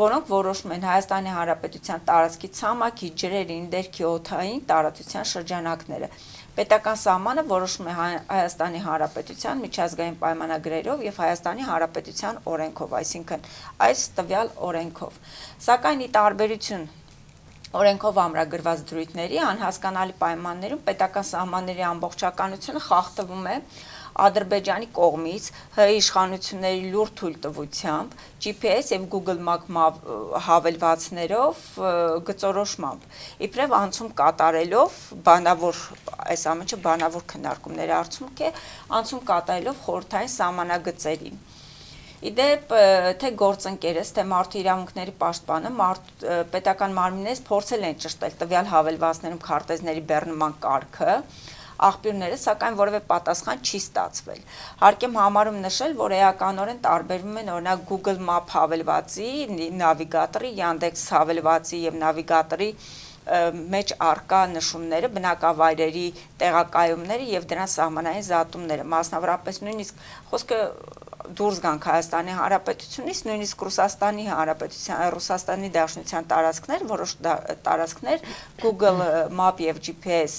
որոնք որոշում են Հայաստանի Հանրապետության տարածքի ցամաքի, ջրերի, ներքի օդային տարածության շրջանակները։ Պետական սահմանը որոշում է Հայաստանի Հանրապետության միջազգային պայմանագրերով եւ Հայաստանի Հանրապետության օրենքով, այսինքն այս տվյալ օրենքով։ Սակայն ի տարբերություն օրենքով ամրագրված դրույթների անհասկանալի պայմաններում պետական սահմանների ամբողջականությունը խախտվում է Ադրբեջանի կողմից ՀՀ իշխանությունների լուրջ թույլտվությամբ, GPS եւ Google Map հավելվածներով գծորոշմամբ, իբրև անցում կատարելով բանավոր, այս ամենը բանավոր քննարկումների արդյունք է, անցում կատարելով խորհրդային սահմանագծերին։ Իդեպ, թե գործընկերս, թե մարդու իրավունքների պաշտպանը պետական մարմիններից փորձել են ճշտել տվյալ հավելվածներում քարտեզների բեռնման կարգը, աղբյուրները, սակայն որևէ պատասխան չի ստացվել։ Հարկ եմ համարում նշել, որ էականորեն տարբերվում են օրինակ Google Map հավելվածի, նավիգատորի, Yandex հավելվածի եւ նավիգատորի մեջ արկա նշումները, բնակավայրերի տեղակայումները եւ դրանց սահմանային զատումները, մասնավորապես նույնիսկ խոսքը դուրս գանք Հայաստանի Հանրապետությունից, նույնիսկ Ռուսաստանի Հանրապետության, Ռուսաստանի Դաշնության տարածքներ, որոշ տարածքներ Google Map եւ GPS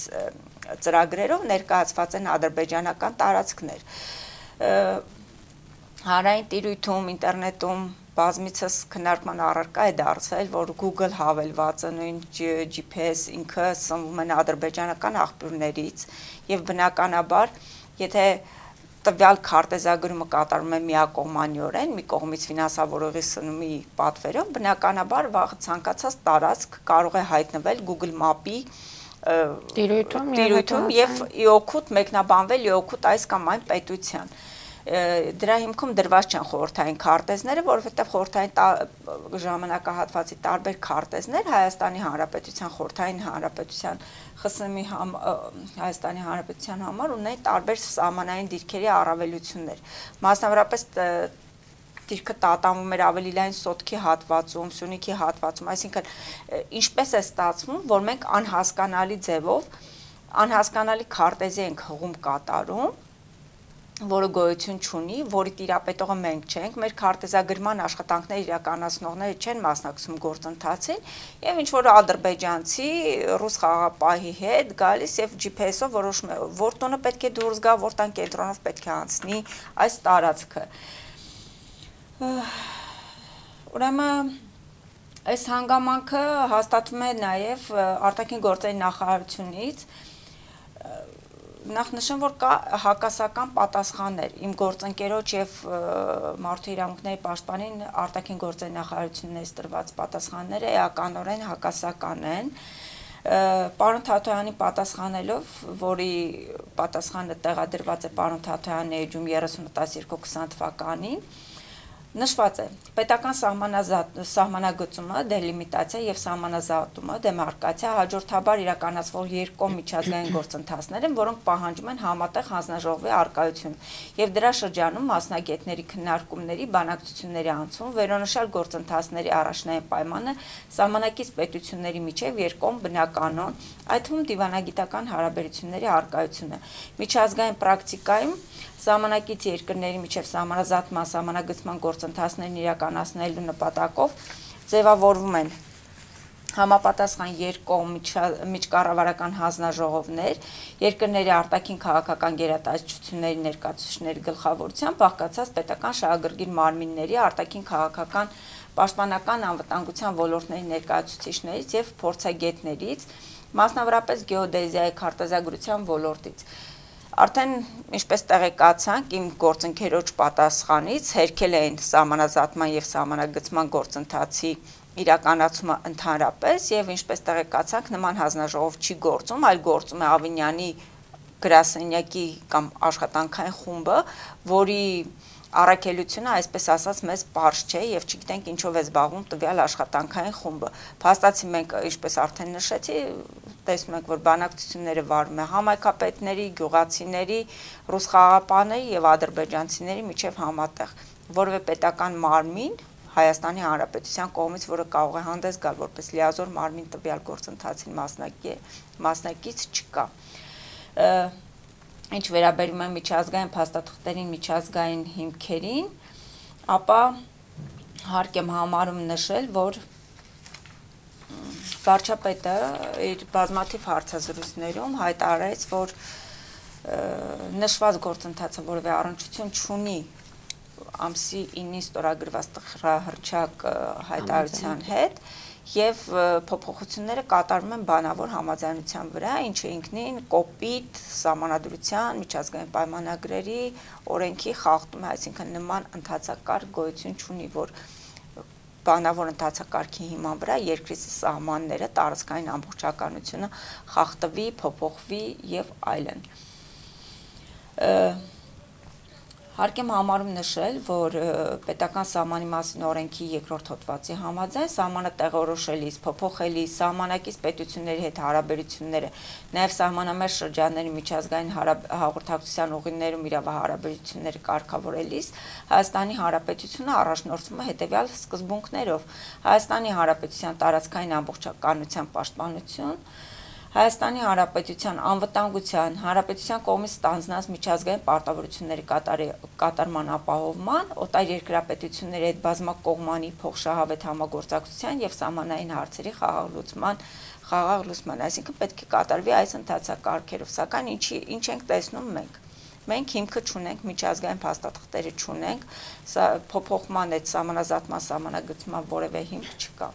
ծրագրերով ներկայացված են ադրբեջանական տարածքներ։ Հանրային տիրույթում, ինտերնետում բազմիցս քննարկման առարկա է դարձել, որ Google հավելվածը, նույն GPS ինքը սնվում են ադրբեջանական աղբյուրներից եւ բնականաբար, եթե տվյալ քարտեզագրումը կատարվում է միակողմանիորեն, մի կողմից ֆինանսավորողի սնումի պատվերով, բնականաբար վաղ ցանկացած տարածք կարող է հայտնվել Google Map-ի տիրույթում եւ իօգուտ մեկնաբանվել իօգուտ այս կամ այն պետության։ Դրա հիմքում դրված չեն խորհրդային քարտեզները, որովհետև խորհրդային ժամանակահատվածի տարբեր քարտեզներ Հայաստանի Հանրապետության խորհրդային հանրապետության ԽՍՀՄ-ի Հայաստանի Հանրապետության համար ունեն տարբեր սահմանային դիրքերի առավելություններ։ Մասնավորապես դիրքը տատանվում էր ավելի լայն Սոտքի հատվածում, Սյունիքի հատվածում, այսինքն ինչպես է ստացվում, որ մենք անհասկանալի ձևով անհասկանալի քարտեզի ենք հղում կատարում, որը գոյություն չունի, որի տիրապետողը մենք չենք, մեր քարտեզագրման աշխատանքները իրականացնողները չեն մասնակցում գործընթացին, եւ ինչ որ ադրբեջանցի ռուս խաղապահի հետ գալիս եւ GPS-ով որոշում է, որ տունը պետք է դուրս գա, որ տան կենտրոնով պետք է անցնի այս տարածքը։ Ուրեմն այս հանգամանքը հաստատվում է նաեւ արտաքին գործերի նախարարությունից նախ նշեմ, որ կա հակասական պատասխաններ իմ գործընկերոջ եւ մարդու իրավունքների պաշտպանին արտաքին գործերի նախարարությունից տրված պատասխանները էականորեն հակասական են։ Պարոն Թաթոյանի պատասխանելով, որի պատասխանը տեղադրված է պարոն Թաթոյանի էջում 30/12/20 թվականին, Նշված է պետական սահմանագծումը, դելիմիտացիա եւ սահմանազատումը, դեմարկացիա հաջորդաբար իրականացվող երկկողմ միջազգային գործընթացներ են, որոնք պահանջում են համատեղ հանձնաժողովի առկայություն եւ դրա շրջանում մասնագետների քննարկումների, բանակցությունների անցում, վերոնշյալ գործընթացների առաջնային պայմանը սահմանակից պետությունների միջև երկկողմ բնականon, այդ թվում դիվանագիտական հարաբերությունների առկայությունը, միջազգային պրակտիկայում Սահմանակից երկրների միջև սահմանազատման սահմանագծման գործընթացներն իրականացնելու նպատակով ձևավորվում են համապատասխան երկկողմ միջկառավարական հանձնաժողովներ, երկրների արտաքին քաղաքական գերատեսչությունների ներկայացուցիչների գլխավորությամբ բաղկացած պետական շահագրգիռ մարմինների արտաքին քաղաքական պաշտպանական անվտանգության ոլորտների ներկայացուցիչներից եւ փորձագետներից, մասնավորապես գեոդեզիայի քարտեզագրության ոլորտից Արդեն ինչպես տեղեկացանք իմ գործընկերոջ պատասխանից հերքել էին սահմանազատման եւ սահմանագծման գործընթացի իրականացումը ընդհանրապես եւ ինչպես տեղեկացանք նման հանձնաժողով չի գործում, այլ գործում է Ավինյանի գրասենյակի կամ աշխատանքային խումբը, որի առաքելությունը, այսպես ասած, մեզ պարզ չէ եւ չգիտենք ինչով է զբաղվում տվյալ աշխատանքային խումբը։ Փաստացի մենք, ինչպես արդեն նշեցի, տեսնում ենք, որ բանակցությունները վարում է համայնքապետների, գյուղացիների, ռուս խաղաղապահների եւ ադրբեջանցիների միջև համատեղ, որովե պետական մարմին Հայաստանի Հանրապետության կողմից, որը կարող է հանդես գալ որպես լիազոր մարմին տվյալ գործընթացին մասնակից չկա։ Ինչ վերաբերում է միջազգային փաստաթղթերին, միջազգային հիմքերին, ապա հարկ եմ համարում նշել, որ վարչապետը իր բազմաթիվ հարցազրույցներում հայտարարեց, որ նշված գործընթացը որևէ առնչություն չունի ամսի 9-ին ստորագրված տխրահռչակ հայտարարության հետ եւ փոփոխությունները կատարվում են բանավոր համաձայնության վրա, ինչը ինքնին կոպիտ սահմանադրության, միջազգային պայմանագրերի, օրենքի խախտում է, այսինքն նման ընդհանցակարգ գոյություն չունի, որ բանավոր ընդհանցակարգի հիման վրա երկրի սահմանները, տարածքային ամբողջականությունը խախտվի, փոփոխվի եւ այլն։ Հարկ եմ համարում նշել, որ պետական սահմանի մասին օրենքի երկրորդ հոդվածի համաձայն սահմանը տեղորոշելիս, փոփոխելիս, սահմանակից պետությունների հետ հարաբերությունները, նաև սահմանամերձ շրջանների միջազգային հաղորդակցության ուղիներում իրավահարաբերությունները կարգավորելիս Հայաստանի Հանրապետությունը առաջնորդվում է հետևյալ սկզբունքներով. Հայաստանի Հանրապետության տարածքային ամբողջականության պաշտպանություն, Հայաստանի Հանրապետության անվտանգության, Հանրապետության կողմից ստանձնած միջազգային պարտավորությունների կատարման ապահովման, օտար երկրապետությունների հետ բազմակողմանի փոխշահավետ համագործակցության եւ սահմանային հարցերի խաղաղ լուծման, այսինքն պետք է կատարվի այս ընդհանցակարգերով, սակայն ինչ ենք տեսնում մենք։ Մենք հիմքը չունենք, միջազգային փաստաթղթերը չունենք, փոփոխման այդ սահմանազատման սահմանագծման որևէ հիմք չկա։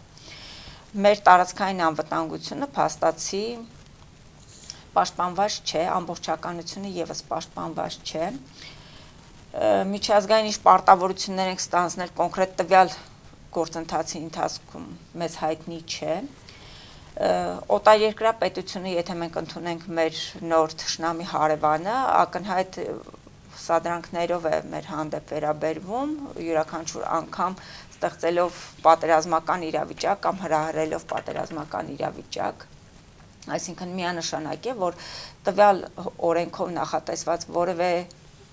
Մեր տարածքային անվտանգությունը փաստացի պաշտպանված չէ, ամբողջականությունը եւս պաշտպանված չէ։ Միջազգային ինչ պարտավորություններ ենք ստանձնել կոնկրետ տվյալ գործընթացի ընթացքում մեզ հայտնի չէ։ Օտարերկրյա պետությունը, եթե մենք ընդունենք մեր նոր թշնամի հարևանը, ակնհայտ սադրանքներով է մեր հանդեպ վերաբերվում, յուրաքանչյուր անգամ ստեղծելով պատերազմական իրավիճակ կամ հրահրելով պատերազմական իրավիճակ, այսինքն միանշանակ է, որ տվյալ օրենքով նախատեսված որևէ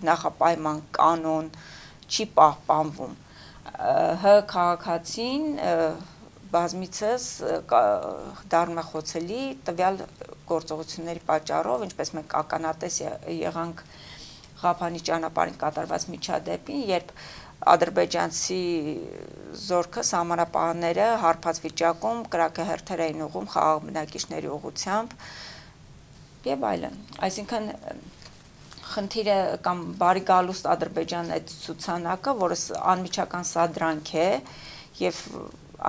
նախապայման կանոն չի պահպանվում։ Հ քաղաքացին բազմիցս դառնում է խոցելի տվյալ գործողությունների պատճառով, ինչպես մենք ականատես եղանք Ղափանի ճանապարհին կատարված միջադեպին, երբ ադրբեջանցի զորքը սահմանապահները հարբած վիճակում կրակահերթեր էին ուղղում խաղաղ բնակիչների ուղղությամբ եւ այլն։ Այսինքն խնդիրը կամ բարի գալուստ Ադրբեջան այդ ցուցանակը, որը անմիջական սադրանք է եւ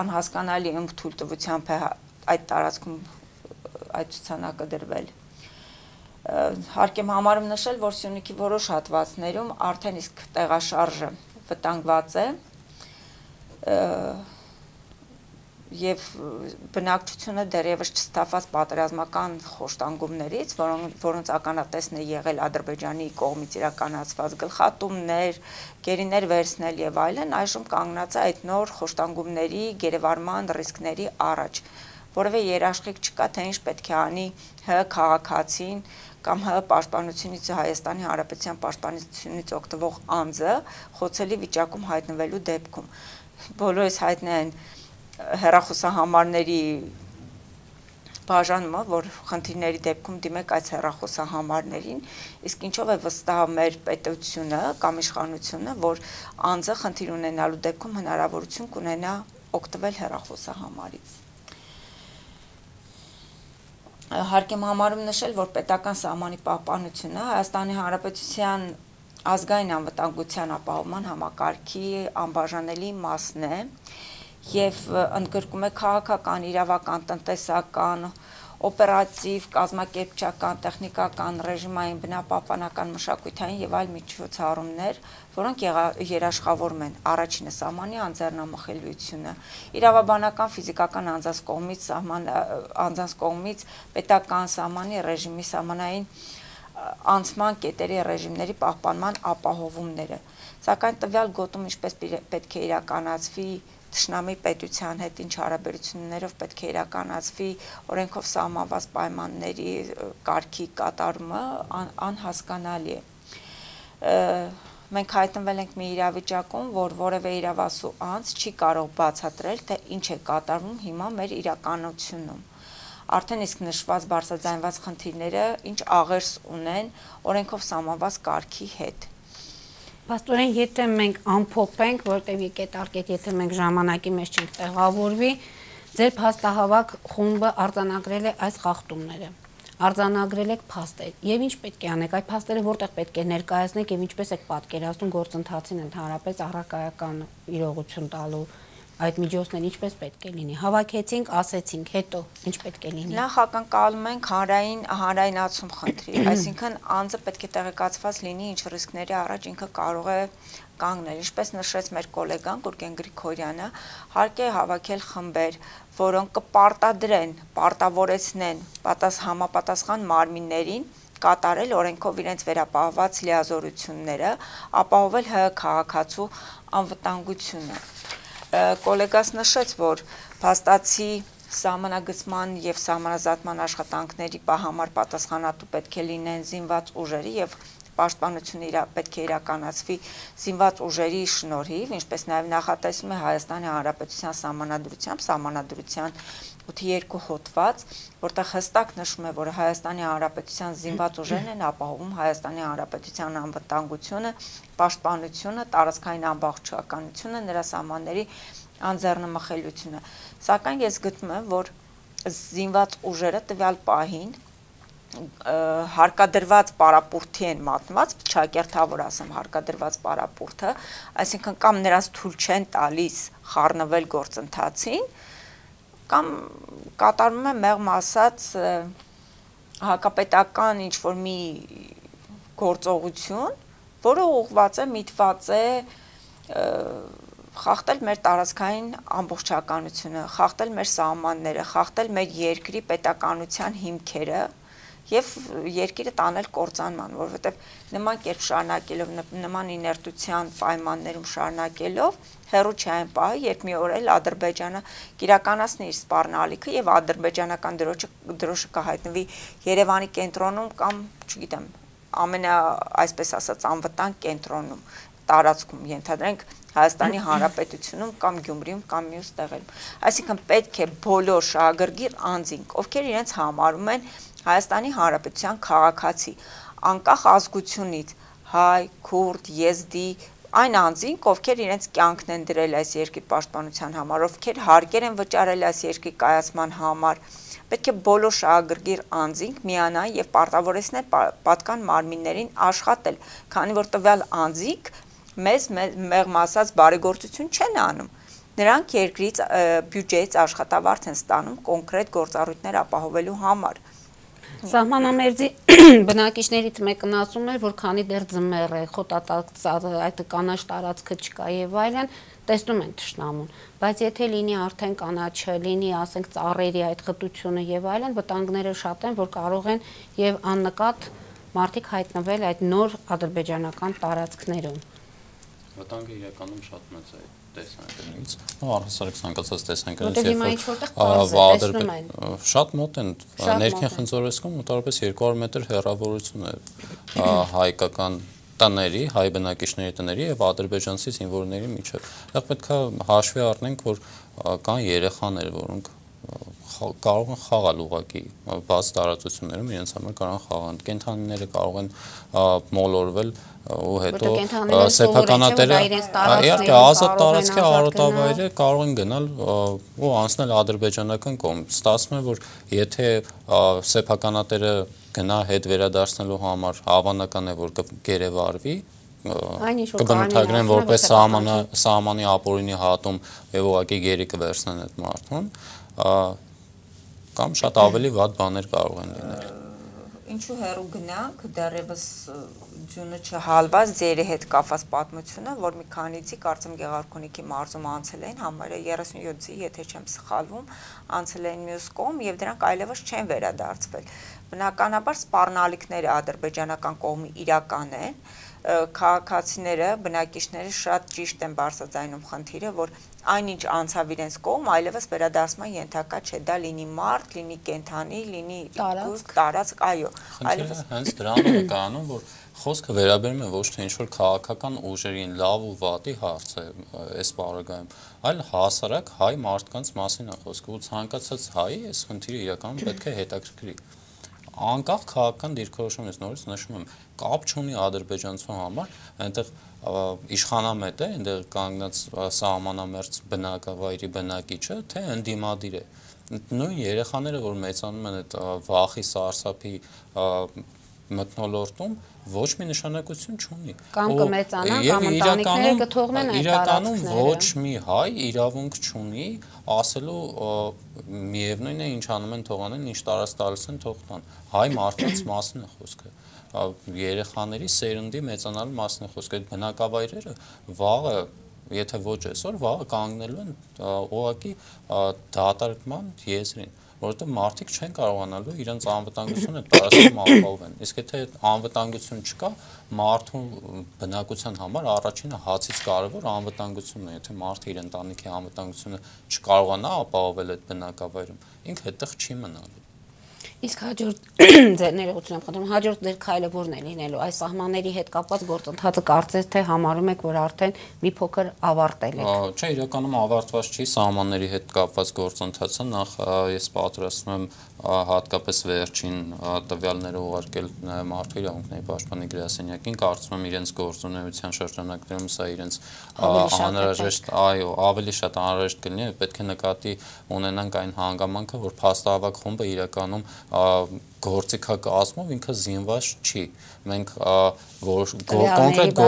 անհասկանալի ըմբ թույլտվությամբ է այդ տարածքում այդ ցուցանակը դրվել։ Հարկ եմ համարում նշել, որ Սյունիքի որոշ հատվածներում արդեն իսկ տեղաշարժը վտանգված է եւ բնակչությունը դեռևս չստացված պատերազմական խոշտանգումներից, որոնց ականատեսն է եղել Ադրբեջանի կողմից իրականացված գլխատումներ, գերիներ վերցնել եւ այլն, այժմ կանգնած է այդ նոր խոշտանգումների գերեվարման ռիսկների առաջ, որովհետեւ երաշխիք չկա, թե ինչ պետք է անի ՀՀ քաղաքացին կամ ՀՀ պաշտպանությունից Հայաստանի Հանրապետության պաշտպանությունից օգտվող անձը խոցելի վիճակում հայտնվելու դեպքում։ Բոլորս հայտնի են հեռախոսահամարների բաժանումը, որ խնդիրների դեպքում դիմեք այս հեռախոսահամարներին, իսկ ինչով է վստահ մեր պետությունը կամ իշխանությունը, որ անձը խնդիր ունենալու դեպքում հնարավորություն կունենա օգտվել հեռախոսահամարից։ Հարկ եմ համարում նշել, որ պետական սահմանի պահպանությունը Հայաստանի Հանրապետության ազգային անվտանգության ապահովման համակարգի անբաժանելի մասն է եւ ընդգրկում է քաղաքական, իրավական, տնտեսական, օպերատիվ, կազմակերպչական, տեխնիկական, ռեժիմային, բնապահպանական, մշակութային եւ այլ միջոցառումներ, որոնք երաշխավորում են առաջինը սահմանի անձեռնամխելիությունը, իրավաբանական, ֆիզիկական անձանց կողմից պետական սահմանի ռեժիմի սահմանային անցման կետերի ռեժիմների պահպանման ապահովումները, սակայն տվյալ գոտում ինչպես պետք է իրականացվի Թշնամի պետության հետ ինչ հարաբերություններով պետք է իրականացվի օրենքով սահմանված պայմանների կարգի կատարումը անհասկանալի է։ Մենք հայտնվել ենք մի իրավիճակում, որ որևէ իրավասու անձ չի կարող բացատրել, թե ինչ է կատարվում հիմա մեր իրականությունում։ Արդեն իսկ նշված բարձրաձայնված խնդիրները ինչ աղերս ունեն օրենքով սահմանված կարգի հետ։
Պաստորեն, եթե մենք ամփոփենք, որտեղ եկետարկետ, եթե մենք ժամանակի մեջ չենք տեղավորվի, ձեր փաստահավաք խումբը արձանագրել է այս խախտումները, արձանագրել եք փաստեր, եւ ինչ պետք է անեք, այդ փաստերը որտեղ պետք է ներկայացնեք եւ ինչպես եք պատկերացնում գործընթացին ընդհանրապես առարկայական իրողություն տալու այդ միջոցները ինչպես պետք է լինի, հավաքեցինք, ասեցինք, հետո ինչ պետք է լինի։
Նախ ակնկալում ենք հանրայնացում խնդրի, այսինքն անձը պետք է տեղեկացված լինի ինչ ռիսկների առաջ ինքը կարող է կանգնել, ինչպես նշեց մեր գոլեգան Գուրգեն Գրիգորյանը, հարկ է հավաքել խմբեր, որոնք կպարտադրեն, պարտավորեցնեն համապատասխան մարմիններին կատարել օրենքով իրենց վերապահված լիազորությունները, ապահովել ՀՀ քաղաքացու անվտանգությունը։ Կոլեգաս նշեց, որ փաստացի սահմանագծման եւ սահմանազատման աշխատանքների համար պատասխանատու պետք է լինեն զինված ուժերի եւ պաշտպանությունը պետք է իրականացվի զինված ուժերի շնորհիվ, ինչպես նաեւ նախատեսվում է Հայաստանի Հանրապետության սահմանադրության 8.2 հոդված, որտեղ հստակ նշվում է, որ Հայաստանի Հանրապետության զինված ուժերն են ապահովում Հայաստանի Հանրապետության անվտանգությունը, պաշտպանությունը, տարածքային ամբողջականությունը, նրա սահմանների անձեռնմխելիությունը։ Սակայն ես գտնում եմ, որ զինված ուժերը տվյալ պահին հարկադրված պարապուրդի են մատնված, ճակերտավոր ասեմ հարկադրված պարապուրդը, այսինքն կամ նրանց թույլ չեն տալիս խառնվել գործընթացին, կամ կատարվում է մեղմ ասած հակապետական ինչ-որ մի գործողություն, որը ուղղված է, միտված է խախտել մեր տարածքային ամբողջականությունը, խախտել մեր սահմանները, խախտել մեր երկրի պետականության հիմքերը եւ երկիրը տանել կործանման, որովհետեւ նման կերպ շարունակելով, նման իներտության պայմաններում շարունակելով հերո չի այն պահը, երբ մի օր էլ Ադրբեջանը կիրականացնի իր սպառնալիքը եւ ադրբեջանական դրոշը կհայտնվի Երևանի կենտրոնում կամ, չգիտեմ, այսպես ասած անվտանգ կենտրոնում, տարածքում, ենթադրենք Հայաստանի Հանրապետությունում կամ Գյումրիում կամ մյուս տեղերում։ Այսինքն պետք է բոլոր շահագրգիռ անձինք, ովքեր իրենց համարում են Հայաստանի Հանրապետության քաղաքացի, անկախ ազգությունից, հայ, քուրդ, եզդի, այն անձինք, ովքեր իրենց կյանքն են դրել այս երկրի պաշտպանության համար, ովքեր հարկեր են վճարել այս երկրի կայացման համար, պետք է բոլոր շահագրգիռ անձինք միանան եւ պարտավորեցնեն պատկան մարմիններին աշխատել, քանի որ տվյալ անձինք մեզ մեղմ ասած բարեգործություն չեն անում։ Նրանք երկրից բյուջեից աշխատավարձ են ստանում կոնկրետ գործառույթներ ապահովելու համար։
Սահմանամերձի բնակիչներից մեկն ասում էր, որ քանի դեռ ձմեռ է, խոտատակ այդ կանաչ տարածքը չկա եւ այլն, տեսնում են թշնամուն, բայց եթե լինի արդեն կանաչը, լինի, ասենք, ծառերի այդ խտությունը եւ այլն, վտանգները շատ են, որ կարող են եւ աննկատ մարդիկ հայտնվել այդ նոր ադրբեջանական տարածքներում։
Վտանգը իրականում շատ մեծ է տեսանկյունից։ Առհասարակ ցանկացած տեսանկյունից
Որտեղ հիմա ինչ-որտեղ պարզ է, տեսնում են։
Շատ մոտ են, ներքին Խնձորեսկում մոտավորապես 200 մետր հեռավորություն է հայկական տների, հայ բնակիչների տների եւ ադրբեջանցի զինվորների միջեւ։ Դա պետք է հաշվի առնենք, որ կան երեխաներ, որոնք կարող են խաղալ ուղղակի բաց տարածություններում, իրենց համար կարող են խաղալ։ Կենդանիները կարող են մոլորվել ու հետո սեփականատերը իհարկե ազատ տարածքի արոտավայրը կարող են գնալ ու անցնել ադրբեջանական կողմ։ Ստացվում է, որ եթե սեփականատերը գնա հետ վերադարձնելու համար հավանական է, որ կգերեվարվի, կբնութագրեն որպես սահմանի ապօրինի հատում եւ ուղղակի գերի կվերցնեն այդ մարդուն, կամ շատ ավելի վատ բաներ կարող են լինել։
Ինչու հեռու գնանք, դեռևս ձյունը չհալված ձերի հետ կապված պատմությունը, որ մի քանիցի կարծեմ Գեղարքունիքի մարզում անցել էին, համարը 37-ի, եթե չեմ սխալվում, անցել էին մյուս կողմ եւ դրանք այլևս չեն վերադարձվել։ Բնականաբար սպառնալիքները ադրբեջանական կողմի իրական են, քաղաքացիները, բնակիչները շատ ճիշտ են բարձրաձայնում խնդիրը, որ այնինչ անցավ իրենց կողմ, այլևս վերադարձման ենթակա չէ, դա լինի մարդ, լինի կենդանի, լինի տարածք, այո,
այլևս հենց դրանում է կանում, որ խոսքը վերաբերում է ոչ թե ինչ-որ քաղաքական ուժերին լավ ու վատի հարց է այս բaragայում, այլ հասարակ հայ մարդկանց մասին է խոսքը, ու ցանկացած հայ այս խնդիրը իրականում պետք է հետաքրքրի։ Անկախ քաղաքական դիրքորոշումից նորից նշում եմ, կապ չունի ադրբեջանցու համար, այնտեղ իշխանամետ է, այնտեղ կանգնած սահմանամերձ բնակավայրի բնակիչը, թե ընդդիմադիր է։ Նույն երեխաները, որ մեծանում են այդ վախի, սարսափի մթնոլորտում, ոչ մի նշանակություն չունի։
Կամ կմեծանան, կամ ընտանիքները կթողնեն այդ
իրականում ոչ մի հայ իրավունք չունի ասելու միևնույն է ինչ անում են թողանեն, ինչ տարած տալիս են թող տան։ Հայ մարդկանց մասին է խոսքը։ Երեխաների սերնդի մեծանալու մասին է խոսքը։ Այդ բնակավայրերը վաղը, եթե ոչ այսօր, վաղը կանգնելու են ուղղակի դատարկման եզրին, որովհետեւ մարդիկ չեն կարողանալու իրենց անվտանգությունը տարածքում ապահովեն։ Իսկ եթե անվտանգություն չկա, մարդու բնակության համար առաջինը հացից կարևոր անվտանգությունն է։ Եթե մարդը իր ընտանիքի անվտանգությունը չկարողանա ապահովել այդ բնակավայրում, ինքը այդտեղ չի մնալու։
Իսկ հաջորդ ձեր ներողություն եմ խնդրում, հաջորդ ձեր քայլը որն է լինելու, այս սահմանների հետ կապված գործընթացը կարծես թե համարում եք, որ արդեն մի փոքր ավարտել եք։
Չէ, իրականում ավարտված չի սահմանների հետ կապված գործընթացը, նախ ես պատրաստում եմ հատկապես վերջին տվյալները ուղարկել Մարդու իրավունքների պաշտպանի գրասենյակին, կարծում եմ իրենց գործունեության շրջանակներում սա իրենց անհրաժեշտ, այո, ավելի շատ անհրաժեշտ կլինի, պետք է նկատի ունենանք այն հանգամանքը, որ փաստահավաք խումբը իրականում գործիքակազմով ինքը զինված չի։ Մենք կոնկրետ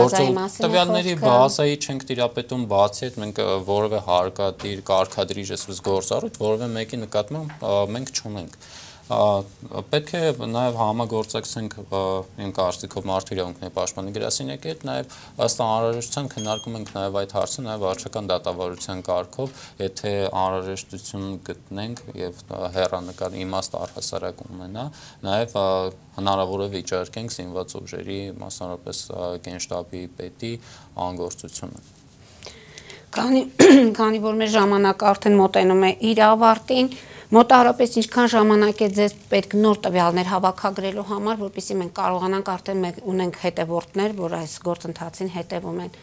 տվյալների բազայի չենք տիրապետում, բացի այդ մենք որևէ հարկադիր, կարգադրիչ այսպես գործառույթ որևէ մեկի նկատմամբ մենք չունենք։ Պետք է նաև համագործակցենք իմ կարծիքով Մարդու իրավունքների պաշտպանի գրասենյակի հետ, նաև ըստ անհրաժեշտության քննարկում ենք նաև այդ հարցը, նաև վարչական դատավարության կարգով, եթե անհրաժեշտություն գտնենք եւ հեռանկար իմաստ առհասարակ ունենա, նաև հնարավոր է վիճարկենք զինված ուժերի, մասնավորապես Գենշտաբի պետի անգործությունը։
Քանի որ մեր ժամանակը արդեն մոտենում է իր ավարտին, մոտավորապես ինչքան ժամանակ է ձեզ պետք նոր տվյալներ հավաքագրելու համար, որպեսզի մենք կարողանանք արդեն ունենք հետևորդներ, որ այս գործընթացին հետևում են։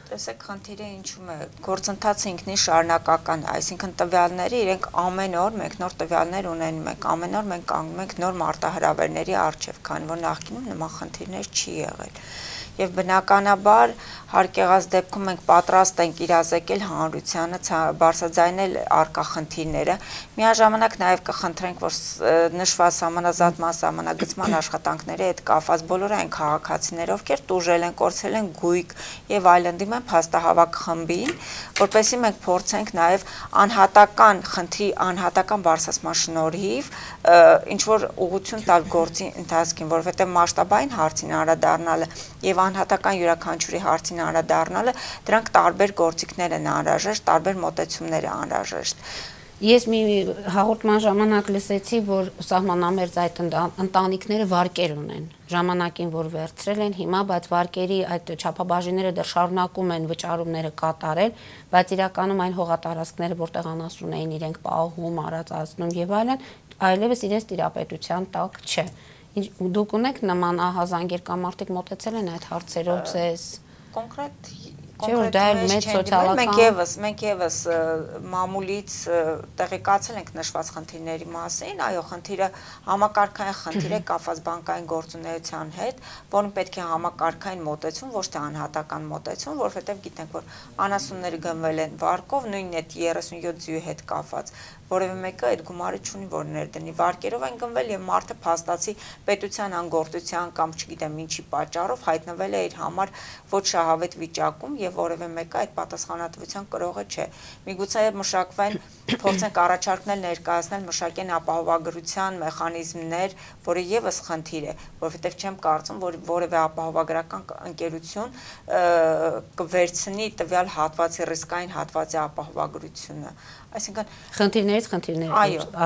Տեսեք, խնդիրը ինչու՞մ է, գործընթացը ինքնին շարունակական է, այսինքն տվյալները իրենք ամեն օր մենք նոր տվյալներ ունենում ենք, ամեն օր մենք կանգնում ենք նոր մարտահրավերների առջև, քանի որ նախկինում նման խնդիրներ չի եղել։ Եվ բնականաբար հարկ եղած դեպքում մենք պատրաստ ենք իրազեկել հանրությանը, բարձրաձայնել առկա խնդիրները, միաժամանակ նաև կխնդրենք, որ նշված սահմանազատման, սահմանագծման աշխատանքների հետ կապված բոլոր այն քաղաքացիները, ովքեր տուժել են, կորցրել են գույք եւ այլն, դիմեն փաստահավաք խմբին, որպեսզի մենք փորձենք նաև անհատական խնդրի անհատական բարձրացման շնորհիվ ինչ որ ուղղություն տալ գործի ընթացքին, որովհետեւ մասշտաբային հարցին անդրադառնալը եւ անհատական յուրաքանչյուրի հարցին անդրադառնալը, դրանք տարբեր գործիքներ են անհրաժեշտ, տարբեր մոտեցումներ են անհրաժեշտ։
Ես մի հաղորդման ժամանակ լսեցի, որ սահմանամերձ այդ ընտանիքները վարկեր ունեն, ժամանակին որ վերցրել են հիմա, բայց վարկերի այդ չափաբաժինները դեռ շարունակում են վճարումները կատարել, բայց իրականում այն հողատարածքները, որտեղ անասուն էին իրենք պահում, արածացնում եւ այլն, այլևս իրենց տիրապետության տակ չէ։ Դուք ունեք նման ահազանգեր կամ մարդիկ մոտեցել են այդ հարցերով ձեզ
կոնկրետ
մենք
եւս մամուլից տեղեկացել ենք նշված խնդիրների մասին, այո, խնդիրը համակարգային խնդիր է կապված բանկային գործունեության հետ, որին պետք է համակարգային մոտեցում, ոչ թե անհատական մոտեցում, որովհետեւ գիտենք, որ անասունները գնվել են վարկով, նույնն այդ 37 ձյուի հետ կապված, որևէ մեկը այդ գումարը չունի, որ ներդնի, վարկերով են գնվել եւ մարդը փաստացի պետության անգործության կամ չգիտեմ ինչի պատճառով հայտնվել է իր համար ոչ շահավետ վիճակում եւ որևէ մեկը այդ պատասխանատվության կրողը չէ։ Միգուցե մշակվեն փորձենք առաջարկնել ներկայացնել մշակեն ապահովագրության մեխանիզմներ, որը եւս խնդիր է, որովհետեւ չեմ կարծում, որ որևէ ապահովագրական ընկերություն կվերցնի տվյալ հատվածի ռիսկային հատվածի ապահովագրությունը։ Այսինքն
խնդիրներ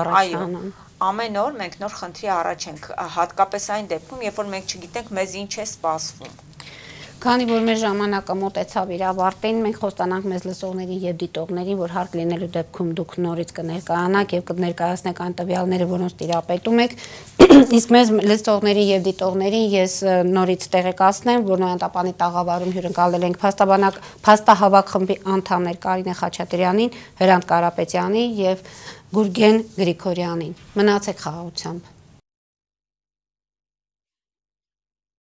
առաջանում։
Ամեն օր մենք նոր խնդրի առաջ ենք, հատկապես այն դեպքում, երբ որ մենք չգիտենք մեզ ինչ է սպասվում։
Քանի որ մեր ժամանակը մոտեցավ իր ավարտին, մենք խոստանանք մեզ լսողներին եւ դիտողներին, որ հարկ լինելու դեպքում դուք նորից կներկայանաք եւ կներկայացնեք այն տվյալները, որոնց տիրապետում եք։ Իսկ մեզ լսողներին եւ դիտողներին ես նորից տեղեկացնեմ, որ Նոյանտապանի տաղավարում հյուրընկալել ենք փաստահավաք խմբի անդամներ Կարինե Խաչատրյանին, Հրանտ Կարապետյանին եւ Գուրգեն Գրիգորյանին։ Մնացեք խաղաղությամբ։